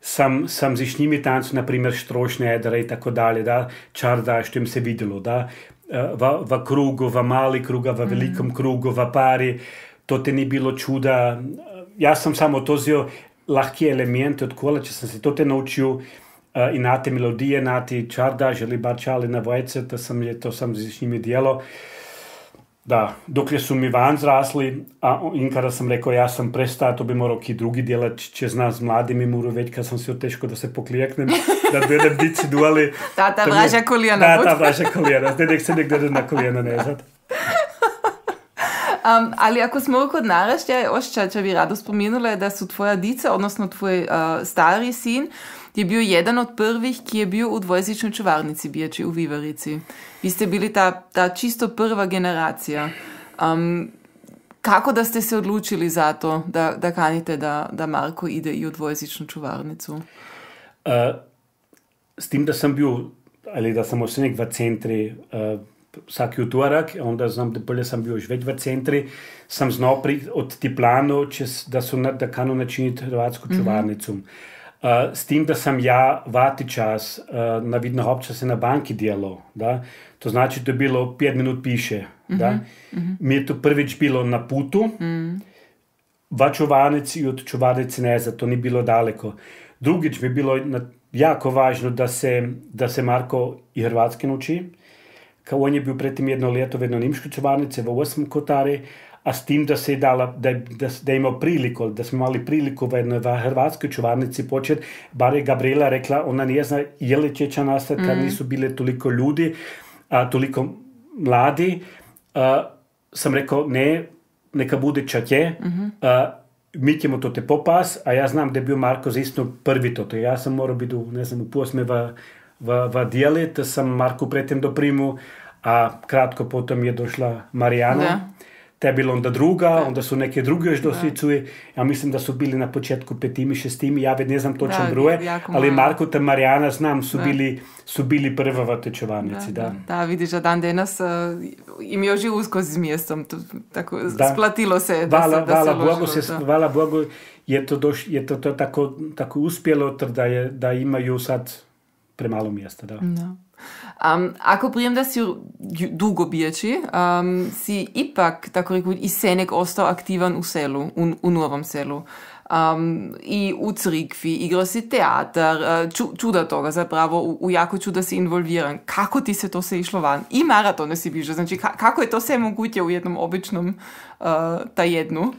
sam z njimi tancu, na primjer, štrošne edera i tako dalje, da, čarda, što im se vidjelo, da, v krugu, v mali kruga, v velikom krugu, v pari, to te ni bilo čuda. Ja sam samo to zio lahke elemente od kola, če sam se to te naučio i na te melodije, na te čardaž ili bar čali na vojce, to sam z njimi dijelo. Da, dokle su mi van zrasli, in kada sam rekao ja sam prestao, to bi morao ki drugi djelat, če zna z mladimi moru već kad sam se teško da se poklijeknem, da budem dici duali. Ta vraža kolijena. Da, ta vraža kolijena, nek se nek gleda na kolijena nezad. Ali ako smo kod naraštaja, oščača bi rado spomenula da su tvoja dica, odnosno tvoj stari sin, je bio jedan od prvih ki je bio u dvojezičnoj čuvarnici bijači u Vivarici. Vi ste bili ta čisto prva generacija. Kako da ste se odlučili za to, da kanite da Marko ide i u dvojezičnu čuvarnicu? S tim da sam bio, ali da sam osenek v centri vsaki utorak, onda znam da bolje sam bio još već v centri, sam znao od ti planu, da kanu načiniti hrvatsku čuvarnicu. S tim da sam ja vati čas na vidno obča se na banki dijelo, da? To znači to je bilo 5 minut piše. Da? Mi je to prvič bilo na putu, v čuvarnici i od čuvarnice nezad, to ni bilo daleko. Drugič mi je bilo jako važno da se Marko i hrvatski nauči, kao on je bio pretim jedno leto v jedno nimškoj čuvarnici v 8 kotari, a s tim da se je dala, da je imao priliku, da smo imali priliku v jednoj hrvatskoj čuvarnici početi, bar je Gabriela rekla, ona ne zna je li će nastati kad nisu bile toliko ljudi, toliko mladi. Sam rekao, ne, neka bude čatje, mi ćemo to te popas, a ja znam da je bio Marko zaistno prvi to. Ja sam morao biti, ne znam, u posme v dijeli, da sam Marku pretem doprimu, a kratko potom je došla Marijana. Da. Te je bilo onda druga, onda su neke druge još doslicuje. Ja mislim da su bili na početku 5, 6, ja već ne znam točan broj, ali Marko te Marijana znam su bili prva v tečevarnici. Da, vidiš, da dan danas im još i usko s mjestom, tako splatilo se Hvala Bogu, je to tako uspjelo, da imaju sad premalo mjesta. Da. Ako prijem da si dugo bijači, si ipak, tako rekoč, i senek ostao aktivan u selu, u Novom Selu. i u crikvi, igrao si teatar, čuda toga zapravo, u jako čuda si involviran. Kako ti se to se išlo van? I maratone si bižao, znači kako je to sve moguće u jednom običnom tajednu?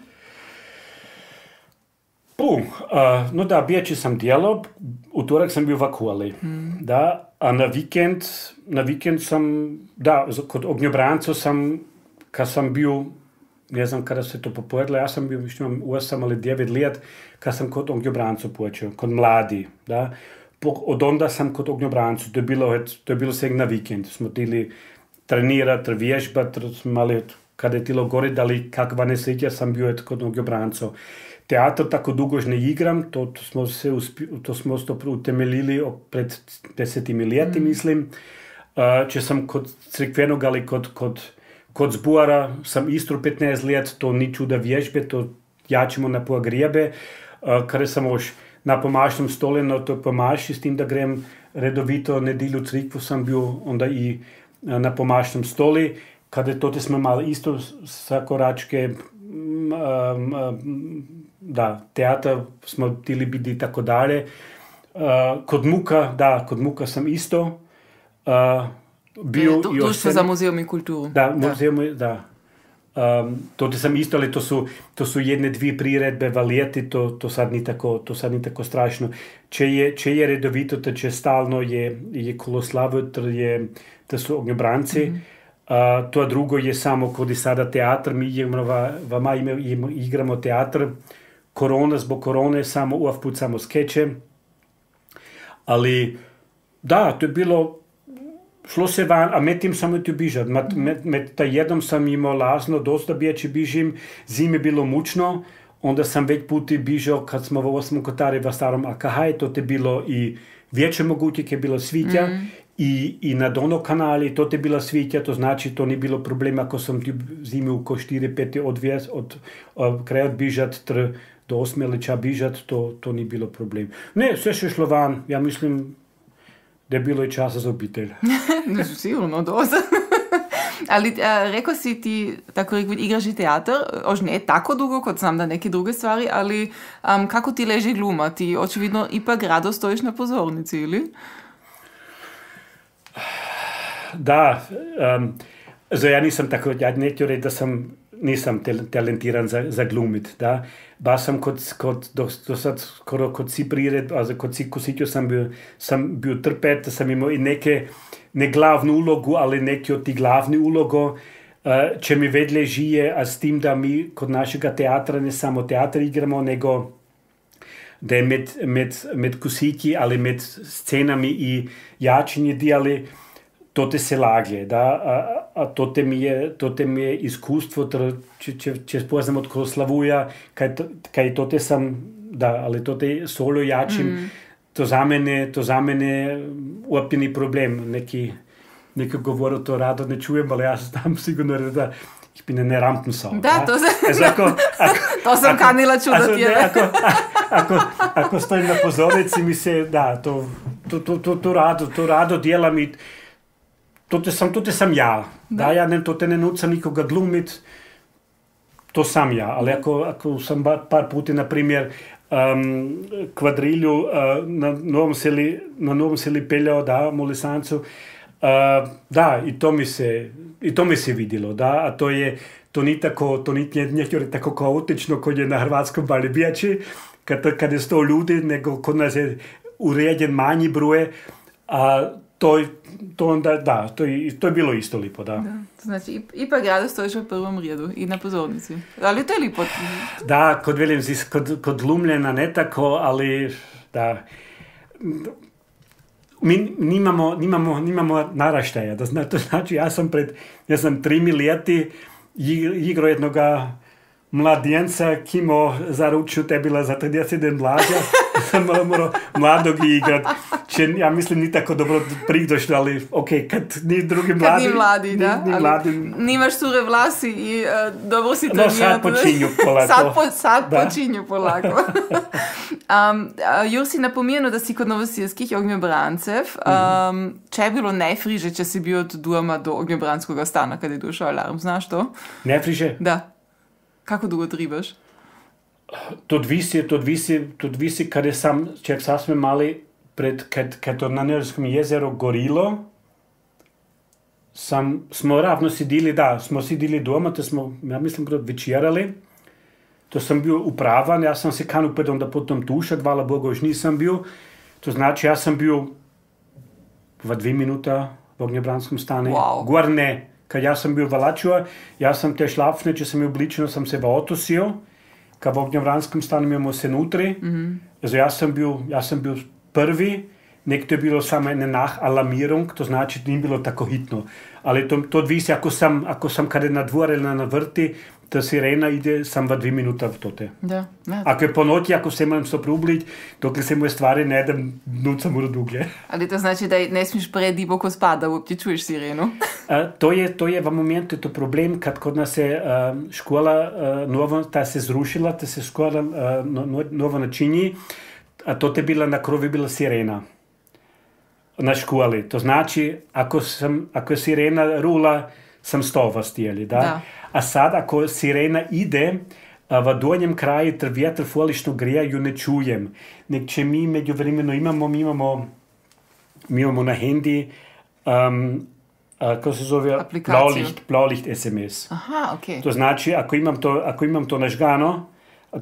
No da, bjeći sam dijelo, utorak sam bio v Akuli, da, a na vikend sam, da, kod Ognjobranca sam, kad sam bio, ne znam kada se to popovedalo, ja sam bio, više imam 8 ali 9 let, kad sam kod Ognjobranca počeo, kod mladi, da. Od onda sam kod Ognjobranca, to je bilo sve na vikend, smo tili trenirati, vježbati, smo mali, kada je tilo gore, dali kakva nesreća sam bio kod Ognjobranca. Teatr tako dugo ne igram, to smo se utemeljili pred 10 leti, mislim. Če sam kod crkvenog, ali kod zbora sam istro 15 let, to ni čuda vježbe, to jačimo na pogrijebe. Kada sam još na pomašnom stole, na to pomaši, s tim da grem redovito nedjelju crkvu, sam bio onda i na pomašnom stoli. Kada to smo imali isto sa koračke, da, teatr smo htjeli biti i tako dalje. Kod Muka sam isto bio. Društvo za muzeum i kulturu. Da, muzeum, da. To sam isto, ali to su jedne dvije priredbe v leti, to sad ni tako strašno. Če je redovito, to če stalno je Koloslavo, to su Ognjobranci. To drugo je samo kod i sada teatr, mi igramo teatr, zbog korone samo uvijek samo skeče, ali da, to je bilo, šlo se van, a med tim samo ti bižat, med ta jednom sam imao lazno, dosta bijeći bižim, zime bilo mučno, onda sam već puti bižao kad smo v 8. kotari v starom AKH, to je bilo i vječe moguće, je bilo svitja, i na Dono kanali, to je bila svitja, to znači to ni bilo problema, ako sam ti zimi u ko 4-5 od kraja odbižat, do 8 ili ča bižat, to ni bilo problem. Ne, sve še šlo van, ja mislim, da je bilo i časa za obitelj. Sigurno, dosta. Ali rekao si ti, tako rekao, igraš i teatr, ož ne tako dugo, kot znam da neke druge stvari, ali kako ti leži gluma? Ti očividno ipak rado stojiš na pozornici, ili? Da, ja nisam tako, ja neću reći da nisam talentiran za glumit, da. Ba sam kod si prired, kod si kusitju sam bio trpet, sam imao i ne glavnu ulogu, ali neki od ti glavni ulogo, če mi vedle žije, a s tim da mi kod našega teatra ne samo teatr igramo, nego da je med kusitji, ali med scenami i jačinje dijali, to te se laglje, da, a to te mi je iskustvo, če spoznam od Koloslavuja, kaj to te sam, da, ali to te solo jačim, to za mene uopće ni problem, neki govor to rado ne čujem, ali ja sam sigurno da ich bin eine Rampensau. Da, to sam kanila čudati. Ako stojim na pozornici, mi se, da, to rado djelam i to te sam ja. Da, ja ne nucam nikoga glumit, to sam ja. Ali ako sam par puta, na primjer, kvadrilju na Novom Seli peljao, da, Molisancu, da, i to mi se vidjelo, da, a to ni tako kaotično kod je na Hrvatskom Balibijači, kad je 100 ljudi, nego kod nas je uređen manji broj, a to onda, da, to je bilo isto lipo, da. Znači, ipak rado stojiš u prvom redu i na pozornici. Ali to je lipo. Da, kod glumljena ne tako, ali da, mi nimamo naraštaja. To znači, ja sam 3 leti igrao jednoga mladjenca, kimo zaručio te bila za 30 mlađa, sam morao mladog igrat. Ja mislim, ni tako dobro pridošlo, ali kad ni drugi mladi. Kad ni mladi, da. Ni mladi. Nimaš sure vlasi i dobro si trenirati. Sad počinju polako. Sad počinju polako. Jur si napomenuo, da si kod Novosirskih Ognjobrancev. Če je bilo najfriže, če si bil od doma do Ognjobranskega stana, kad je došao alarm, znaš to? Najfriže? Da. Kako dugo tribaš? To visi kada sam, čak sasme mali, kad to na Nežskom jezeru gorilo, smo ravno smo sidili doma, to smo, ja mislim, večerali. To sam bio upravan, ja sam se kanupet onda potom tušat, hvala Bogu, još nisam bio. To znači, ja sam bio 2 minuta v ognjebranskom stanu. Wow. Gorne, kad ja sam bio valačio, ja sam te šlapne, če sam je obličeno, sam se otosio, kad v ognjebranskom stanu imamo se nutri. Also, ja sam bio prvi, nekto je bilo samo nenah alarmirung, to znači, nije bilo tako hitno. Ali to visi, ako sam kada na dvor ili na vrti, ta sirena ide sam v 2 minuta v tote. Da. Ako je po noći, ako se moram soprubljiti, dokle se moje stvari ne idem, nuca mora duglje. Ali to znači da ne smiješ prediboko spada, da uopće čuješ sirenu? To je v momentu to problem, kad kod nas je škola nova, ta se zrušila, ta se škola nova načinji, a to je bila na krovi bila sirena. Na školi. To znači, ako je sirena rula, sam stova stijeli, da? A sad, ako sirena ide, v donjem kraju vjetar folično grija, ju ne čujem. Nek če mi međuvremeno mi imamo na hendi, kako se zove? Blaulicht SMS. Aha, okej. To znači, ako imam to nažgano,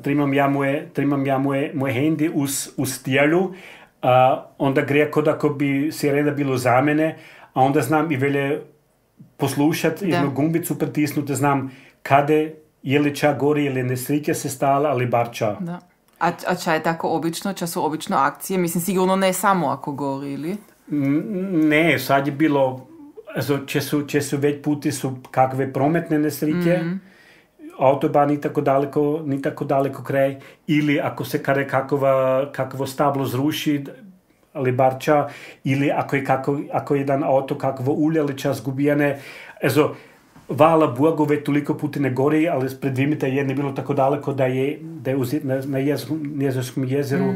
trimam ja moje hendi u stijelu, onda gre kod ako bi sirena bilo za mene, a onda znam i velje poslušati, jednu gumbicu pritisnuti, znam kade je li ča gori ili nesreća se stala, ali bar ča. Da. A ča je tako obično? Ča su obično akcije? Mislim, sigurno ne samo ako gori, ili? Ne, sad je bilo, če su već puti su kakve prometne nesreće, autobahn ni tako daleko kraj, ili ako se kada kakvo stablo zruši, ali barča, ili ako je jedan auto kakvo ulje ali čas gubijene. Hvala Bogu, već toliko puti ne gori, ali pred 2 minuta je bilo tako daleko da je na Jezerskom jezeru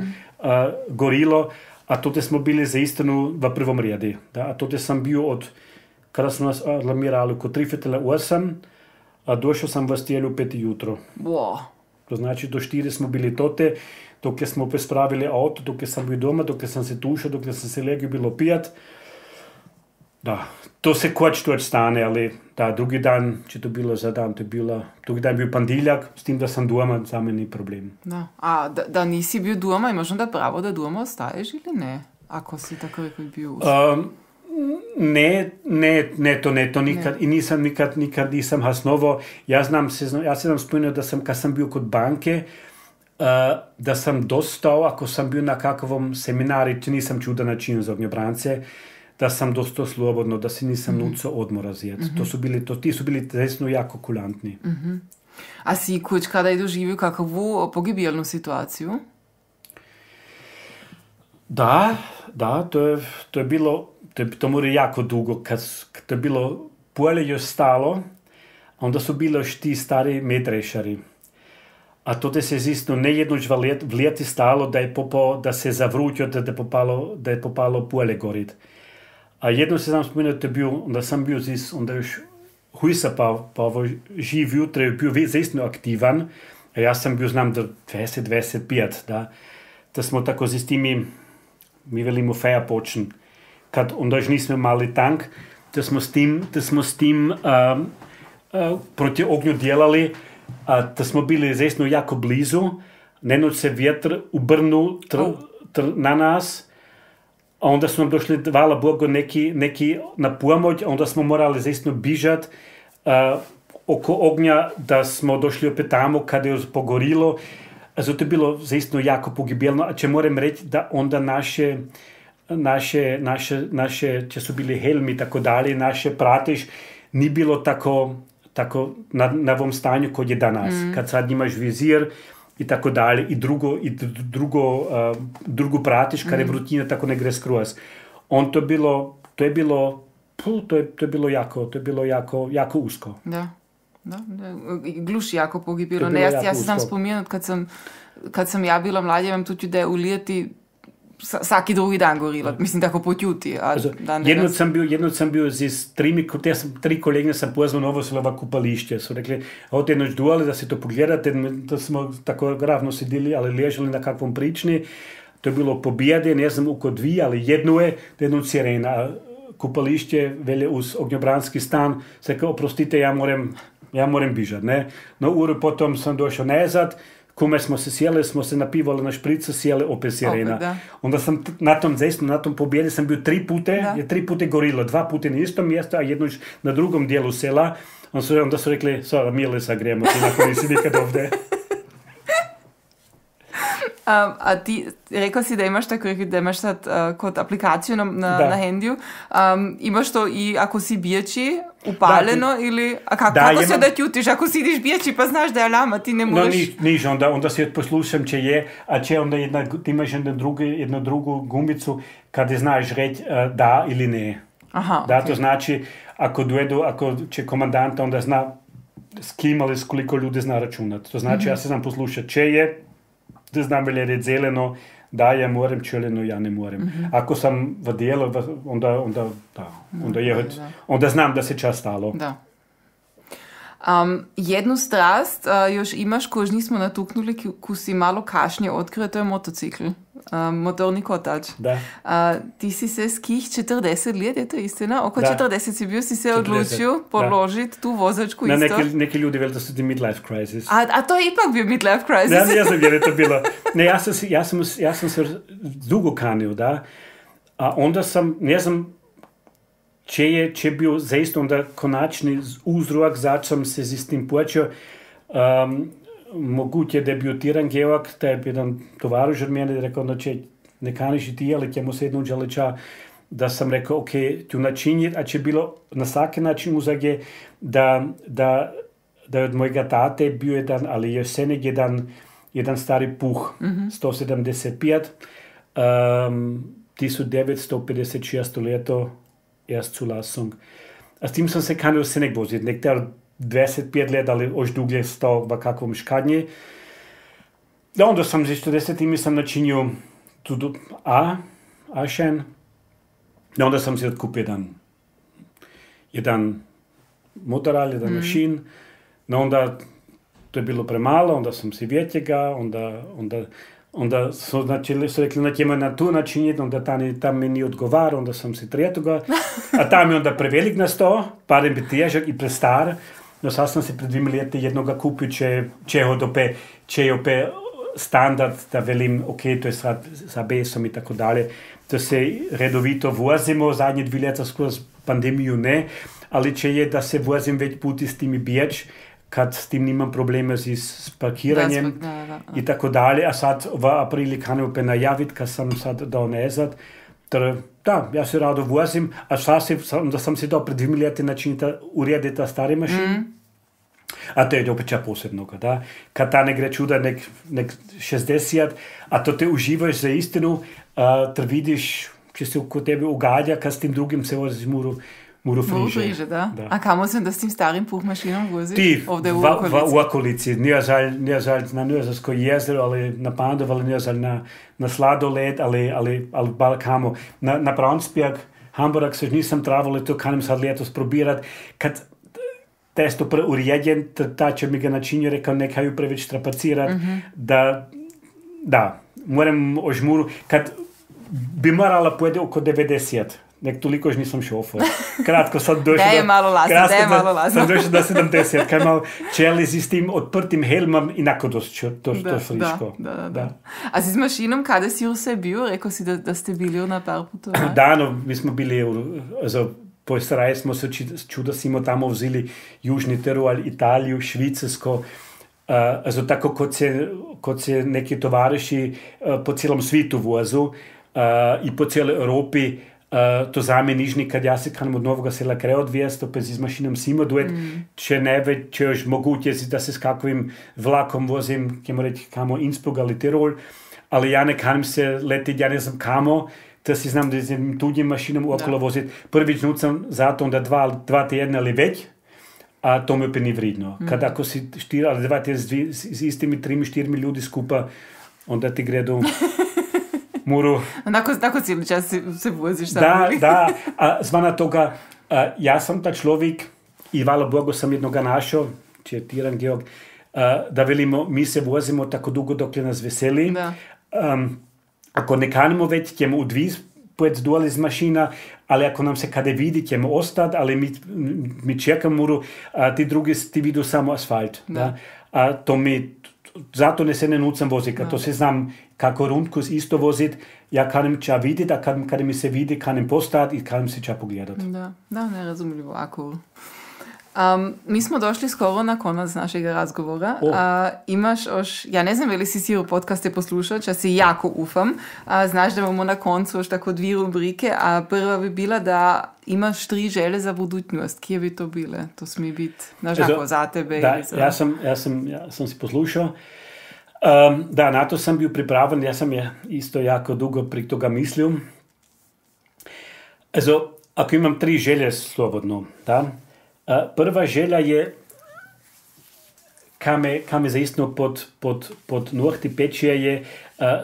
gorilo, a tote smo bili za istinu v prvom redi. A tote sam bio kada smo nas alarmirali oko 3:08, a došao sam v stijelu 5 jutro. Wow. To znači, do 4 smo bili tote, dok smo prespravili auto, dok sam bio doma, dok sam se tušao, dok sam se legio bilo pijat. Da, to se koč stane, ali da, drugi dan, če to bilo za dan, drugi dan je bil pandiljak, s tim, da sam doma, za me ni problem. Da. A da nisi bil doma, imaš onda pravo da doma ostaješ ili ne? Ako si tako rekel bil to nikad. I nikad nisam hasnovo. Ja se nam spomnio da sam, kad sam bio kod banke, da sam dostao, ako sam bio na kakvom seminari, če nisam čuo da način za ognjebrance, da sam dostao slobodno, da se nisam nucao odmora zjet. Ti su bili resno jako kulantni. A si kuć kada je doživio kakvu pogibijelnu situaciju? Da, to je bilo, to mora jako dugo, kad to je bilo polje još stalo, onda su bili još ti stari medrešari. A to se zistno ne jednoč v leti stalo, da se zavrutio, da je popalo polje gorit. A jedno se znam spomenuti, onda sam bio onda još hujsa pa ovo živ jutra je bio zistno aktivan, a ja sam bio, znam, 20-25, da smo tako z timi, mi velimo feja počen, kad onda još nismo mali tank, da smo s tim proti ognju djelali, da smo bili zesno jako blizu, nenoć se vjetr ubrnu na nas, a onda su nam došli, hvala Bogu, neki na pomoć, a onda smo morali zesno bižat oko ognja, da smo došli opet tamo kada je pogorilo. Zato je bilo zesno jako pogibeljno, a če moram reći da onda naše, če su bili helmi i tako dalje, naše pratiš, ni bilo tako na ovom stanju kod je danas. Kad sad imaš vizir i tako dalje, i drugu pratiš, kad je vrutina tako ne gre skroz. To je bilo jako usko. Da. Gluš jako pogibilo. Ja se znam spomenut, kad sam ja bila mladja, imam tuči da je u lijeti svaki drugi dan gorila. Mislim, tako po tjuti. Jedno sam bio z tri kolegine sam pozvao Novo Selova kupališće. Su rekli, ovdje noć duale da se to pogledate, da smo tako ravno sedili, ali ležali na kakvom prični. To je bilo pobijade, ne znam oko dvije, ali jednu sirena. Kupališće velje uz ognjobranski stan. Se kao, oprostite, ja moram bižat, ne? No uru potom sam došao nazad, kume smo se sjeli, smo se napivali na špricu, sjeli opet sirena. Onda sam na tom pobjedi sam bio 3 puta gorilo, 2 puta na istom mjestu, a jedno na drugom dijelu sela. Onda su rekli, sada Milesa gremo, ti nakon nisi nikad ovdje. A ti, rekao si da imaš sad kod aplikaciju na hendiju, imaš to i ako si bijači upaljeno ili, a kako se da ćutiš ako sidiš bijači pa znaš da je alarm, a ti ne možeš... No niš, onda se poslušam če je, a če onda ti imaš jednu drugu gumbicu kada znaš reći da ili ne. Aha, da, to znači ako će komandanta onda zna s kim ali s koliko ljudi zna računati. To znači ja se znam poslušati če je, da znam velje reći zeleno, da ja moram, čeleno ja ne moram. Ako sam v dijelu, onda znam da se čas stalo. Da. Jednu strast još imaš koju nismo natuknuli, ko si malo kašnje otkrio, to je motocikl. Motorni kotač. Da. Ti si se skih 40 let, je to istina? Oko 40 si bio, si se odlučio položiti tu vozačku isto. Neki ljudi veli da su ti midlife crisis. A to je ipak bio midlife crisis. Ja ne znam jer je to bilo. Ne, ja sam se dugo kanio, da. A onda sam, ne znam, če bio zaista onda konačni uzrok, zač sam se s tim počeo. Moguće debutiran Georg, taj je jedan tovaruž od mene, rekao, da če ne kaniš i ti, ali ćemo se jednom želiča, da sam rekao, ok, ću načiniti, a će bilo na svaki način uzage, da je od mojega tate bio jedan, ali je senek jedan stari puh, 175, 1956 leto, erst Zulassung. A s tim sam se kanil senek voziti, nektar 25 let, ali ož duglje stao v kakvom škadnji. Da, onda sam z 40 sam načinio tudi A-šen. Da, onda sam si odkupil jedan motoral, jedan mašin. No, onda to je bilo premalo, onda sam si vjetjega, onda su rekli na tjema na tu načiniti, onda tam mi nije odgovar, onda sam si trijetoga, a tam je onda prevelik na sto, parem bi težak i prestar. No, sad sam si pred 2 leti jednoga kupio, če je opet standard, da velim, ok, to je sa besom i tako dalje. To se redovito vozimo, zadnje 2 leta skozi pandemiju ne, ali če je da se vozim već puti s timi bijač, kad s tim nimam problema s parkiranjem i tako dalje, a sad v aprili kanem opet najaviti, kad sam sad dao nazad. Da, ja se rado vozim, a da sam si dao pred 2 leti načiniti urediti ta stari mašin. A to je opet ča posebnoga, da. Kad ta ne gre čuda nek 60, a to te uživaš za istinu, ter vidiš, če se kod tebe ugadja, kad s tim drugim se voziš muru friže. Da. A kamo se da s tim starim puhmašinom voziš? Ti, v okolici. Nije žalj na Nizozemsko jezero, ali na Pandov, ali nije žalj na sladoled, ali bal kamo. Na Braunsberg, Hamburg se nisam travali, to kanem sad letos probirat. Kad testo preurejen, ta će mi ga načinio, rekao nekaju preveč trapacirat, da, moram o žmuru, kad bi morala pojede oko 90, nek toliko nisam šofer. Kratko sam došao da je malo lasno. Sam došao do 70, kaj mal čeli s tim odprtim helmom i nako to friško. Da. A si s mašinom, kada si vse bil? Rekao si da ste bili na par potovanj? Da, no, mi smo bili, po Sarajevo smo se čuda smo tamo vzeli Južni Tirol, Italiju, Švicarsko, tako kot se neki tovariši po celom svitu vozu i po cijeloj Evropi. To zame nižni, kad ja se kanem od Novega Sela kraj odvijest, opet z mašinom simo duet, če još moguće da se s kakvim vlakom vozim, kemo reći kamo Innsbruck ali Tirol, ali ja ne kanem se letiti, ja ne znam kamo, da si znam da s tuđim mašinom okolo voziti. Prvič nucam zato onda 2 tjedna ali već, a to mi opet nije vridno. Kad ako si 4 ali 2 tjedna s istimi 3-4 ljudi skupa, onda ti gredu Moru... Tako cijeli čas se voziš sam. Da, a zvana toga, ja sam ta človek i hvala Bogu sam jednoga našao, če Tiran Georg, da velimo, mi se vozimo tako dugo dokle nas veseli. Da. Ako ne kanimo već, ćemo udviz pojeti dole iz mašina, ali ako nam se kada vidi, ćemo ostati, ali mi čekamo, ti drugi ti vidu samo asfalt. Da. A to zato ne se ne nucam voziti, to se znam kako rundkus isto vozit, ja kanem ča vidjeti, a kada mi se vidi, kanem postati i kanem se ča pogledati. Da, nerazumljivo, ako. Mi smo došli skoro na konac našega razgovora. Imaš ja ne znam veli si siru podcaste poslušao, ča si jako ufam. Znaš da imamo na koncu još tako 2 rubrike, a prva bi bila da imaš 3 želje za budućnost. Kje bi to bile? To smije biti, znaš, za tebe. Da, ja sam si poslušao. Da, na to sam bio pripraven, ja sam je isto jako dugo pri toga mislio. Ako imam 3 želje slobodno, da, prva želja je kam me zaistno pod nohti pečije je,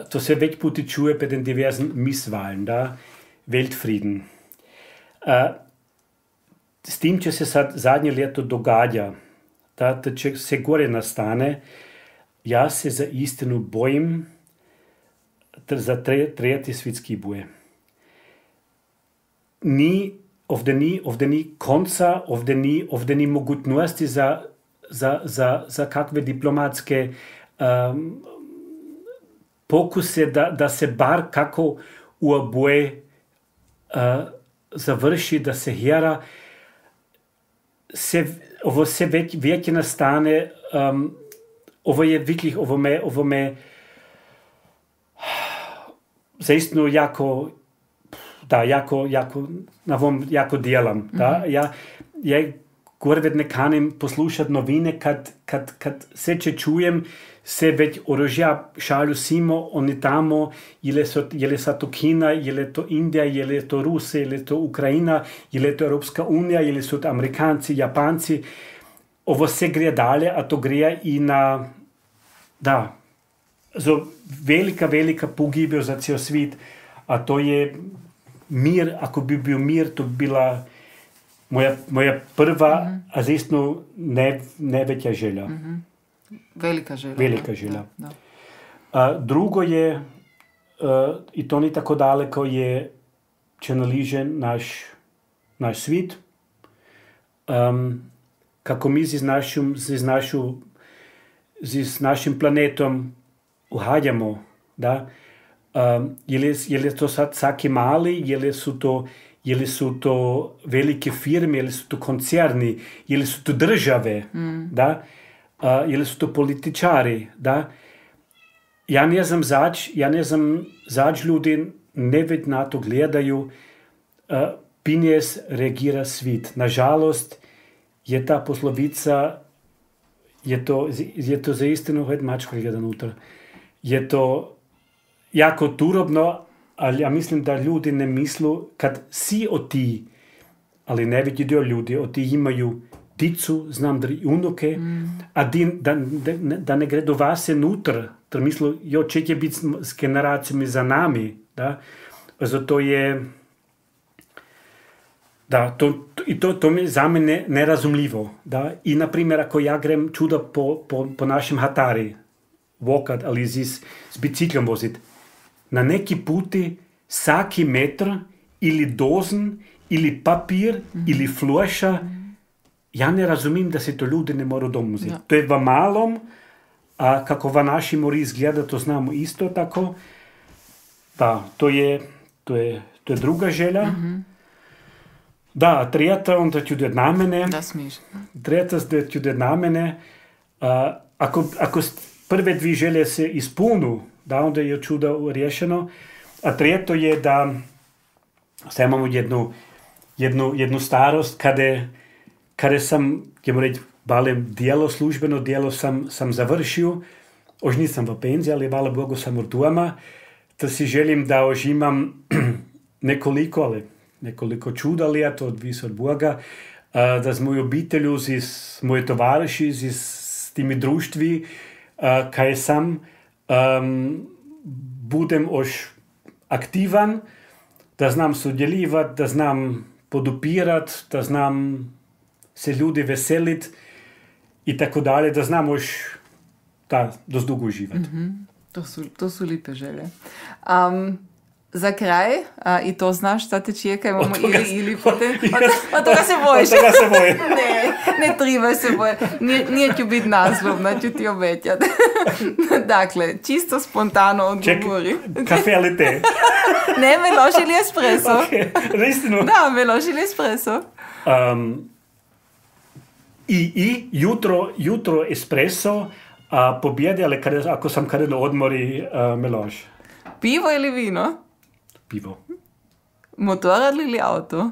to se već puti čuje bei den diversen Misswahlen, da, Weltfrieden. S tim će se sad zadnje ljeto događa, da će se gore nastane, ja se za istinu bojim za tretji svjetski boj. Ovdje ni konca, ovdje ni mogućnosti za kakve diplomatske pokuse da se bar kako u oboje završi, da se hera. Ovo se već nastane, ovo je wirklich, ovo me zaistinu jako djelam. Da? Ja gore ne kanem poslušati novine, kad se čujem, se već orožja šalju simo, oni tamo, je li to Kina, je li to Indija, je li to Rusija, je li to Ukrajina, je li to Europska unija, je li su to Amerikanci, Japanci. Ovo se gre dalje, a to gre i na, velika pogibel za cijel svijet, a to je mir, ako bi bio mir, to bi bila moja prva, a zaistno najveća želja. Velika želja. Velika želja. Drugo je, i to ni tako daleko, je če naliže naš svijet. Kako mi z našim planetom uhajamo, da? Je li to sad vsaki mali, je li su to velike firme, je li su to koncerni, je li su to države, da? Je li su to političari, da? Ja ne znam zač ljudi ne već na to gledaju, pinjes reagira svit. Nažalost, je ta poslovica, je to za istinu, hajde mačko gleda unutra, je to jako turobno, ali ja mislim da ljudi ne mislu, kad si ti, ali najveći dio ljudi ti imaju dicu, znam da i unuke, a da ne gre do vas nutra, da mislu, če će biti s generacijami za nami, da, zato je, da, to mi je za mene nerazumljivo, da, i na primjer, ako ja grem čuda po našem Hatari, vokat ali s biciklom vozit, na neki puti vsaki metr ili dozen, ili papir, ili floša, ja ne razumim da se to ljudi ne morajo doma vzeti. Ja. To je v malom, a kako v naši mori izgleda, to znamo isto tako. Da, to je druga želja. Da, tretja, onda ću da na mene. Da smiš. Tretja, da ću da na mene. Ako prve 2 želje se ispunu, da, onda je čudo rješeno. A treto je da sad imamo jednu starost kada sam, ćemo reći, balem službeno dijelo sam završio. Už nisam v penziji, ali hvala Bogu sam u doma. Da si želim da už imam nekoliko čuda leta, odvis od Boga, da z mojo obitelju, z moje tovariši, s timi društvi, kaj sam, budem už aktivan, da znam sudjeljivati, da znam podupirati, da znam se ljudi veseliti i tako dalje, da znam još dost dugo uživati. To su lipe želje. Za kraj, i to znaš šta te čeka, imamo ili potem... Od toga se bojiš. Od toga se bojim. Ne treba se bojiti. Nije ću biti naslovna, ću ti obećati. Dakle, čisto spontano odgovori. Kafe ali te? Ne, meloš ili espresso. Ok, istinu. Da, meloš ili espresso. Jutro espresso, a pobjede, ali ako sam kada na odmori, meloš. Pivo ili vino? Pivo. Motorad ili auto?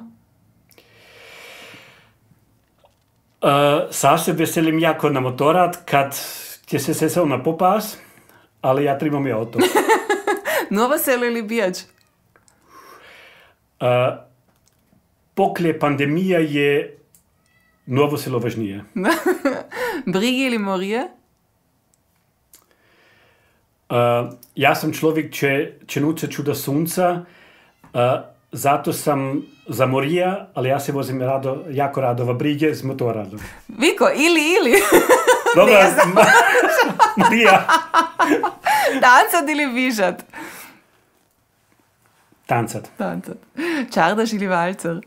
Sad se veselim jako na motorad, kad će se sesel na popas, ali ja trebam i auto. Novo selo ili Bijač? Poklje pandemija je Novo selo važnije. Brigi ili morije? Ja sam človek, če nuce čuda sunca, zato sam za morija, ali ja se vozim jako rado v brige z motoradom. Viko, ili. Dobro, Marija. Tancat ili vižat? Tancat. Čardaš ili valcer?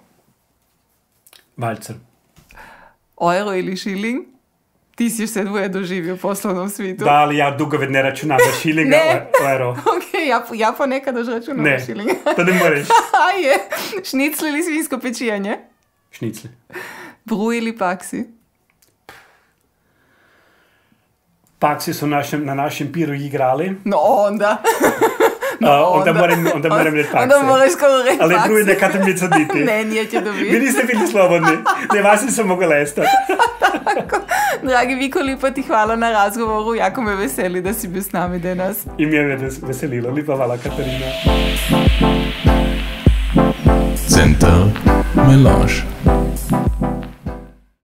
Valcer. Euro ili šiling? Ti si vse dvoje doživio u poslovnom svijetu. Da, ali ja dugo ne računam za šilinga o euro. Ok, ja ponekad još računam za šilinga. Ne, to ne moraš. Je. Šnicli ili svinjsko pečijanje? Šnicli. Bru ili paksi? Paksi su na našem piru igrali. No onda. Onda moram reći paksi. Onda moraš skoro reći paksi. Ali drugi nekada mi cuditi. Ne, nije će dobiti. Vi niste bili slobodni. Ne, vas nisam mogu lestati. Dragi Viko, lipa ti hvala na razgovoru. Jako me veseli da si bil s nami danas. I mi je veselilo. Lipa hvala, Katarina. Center Melange.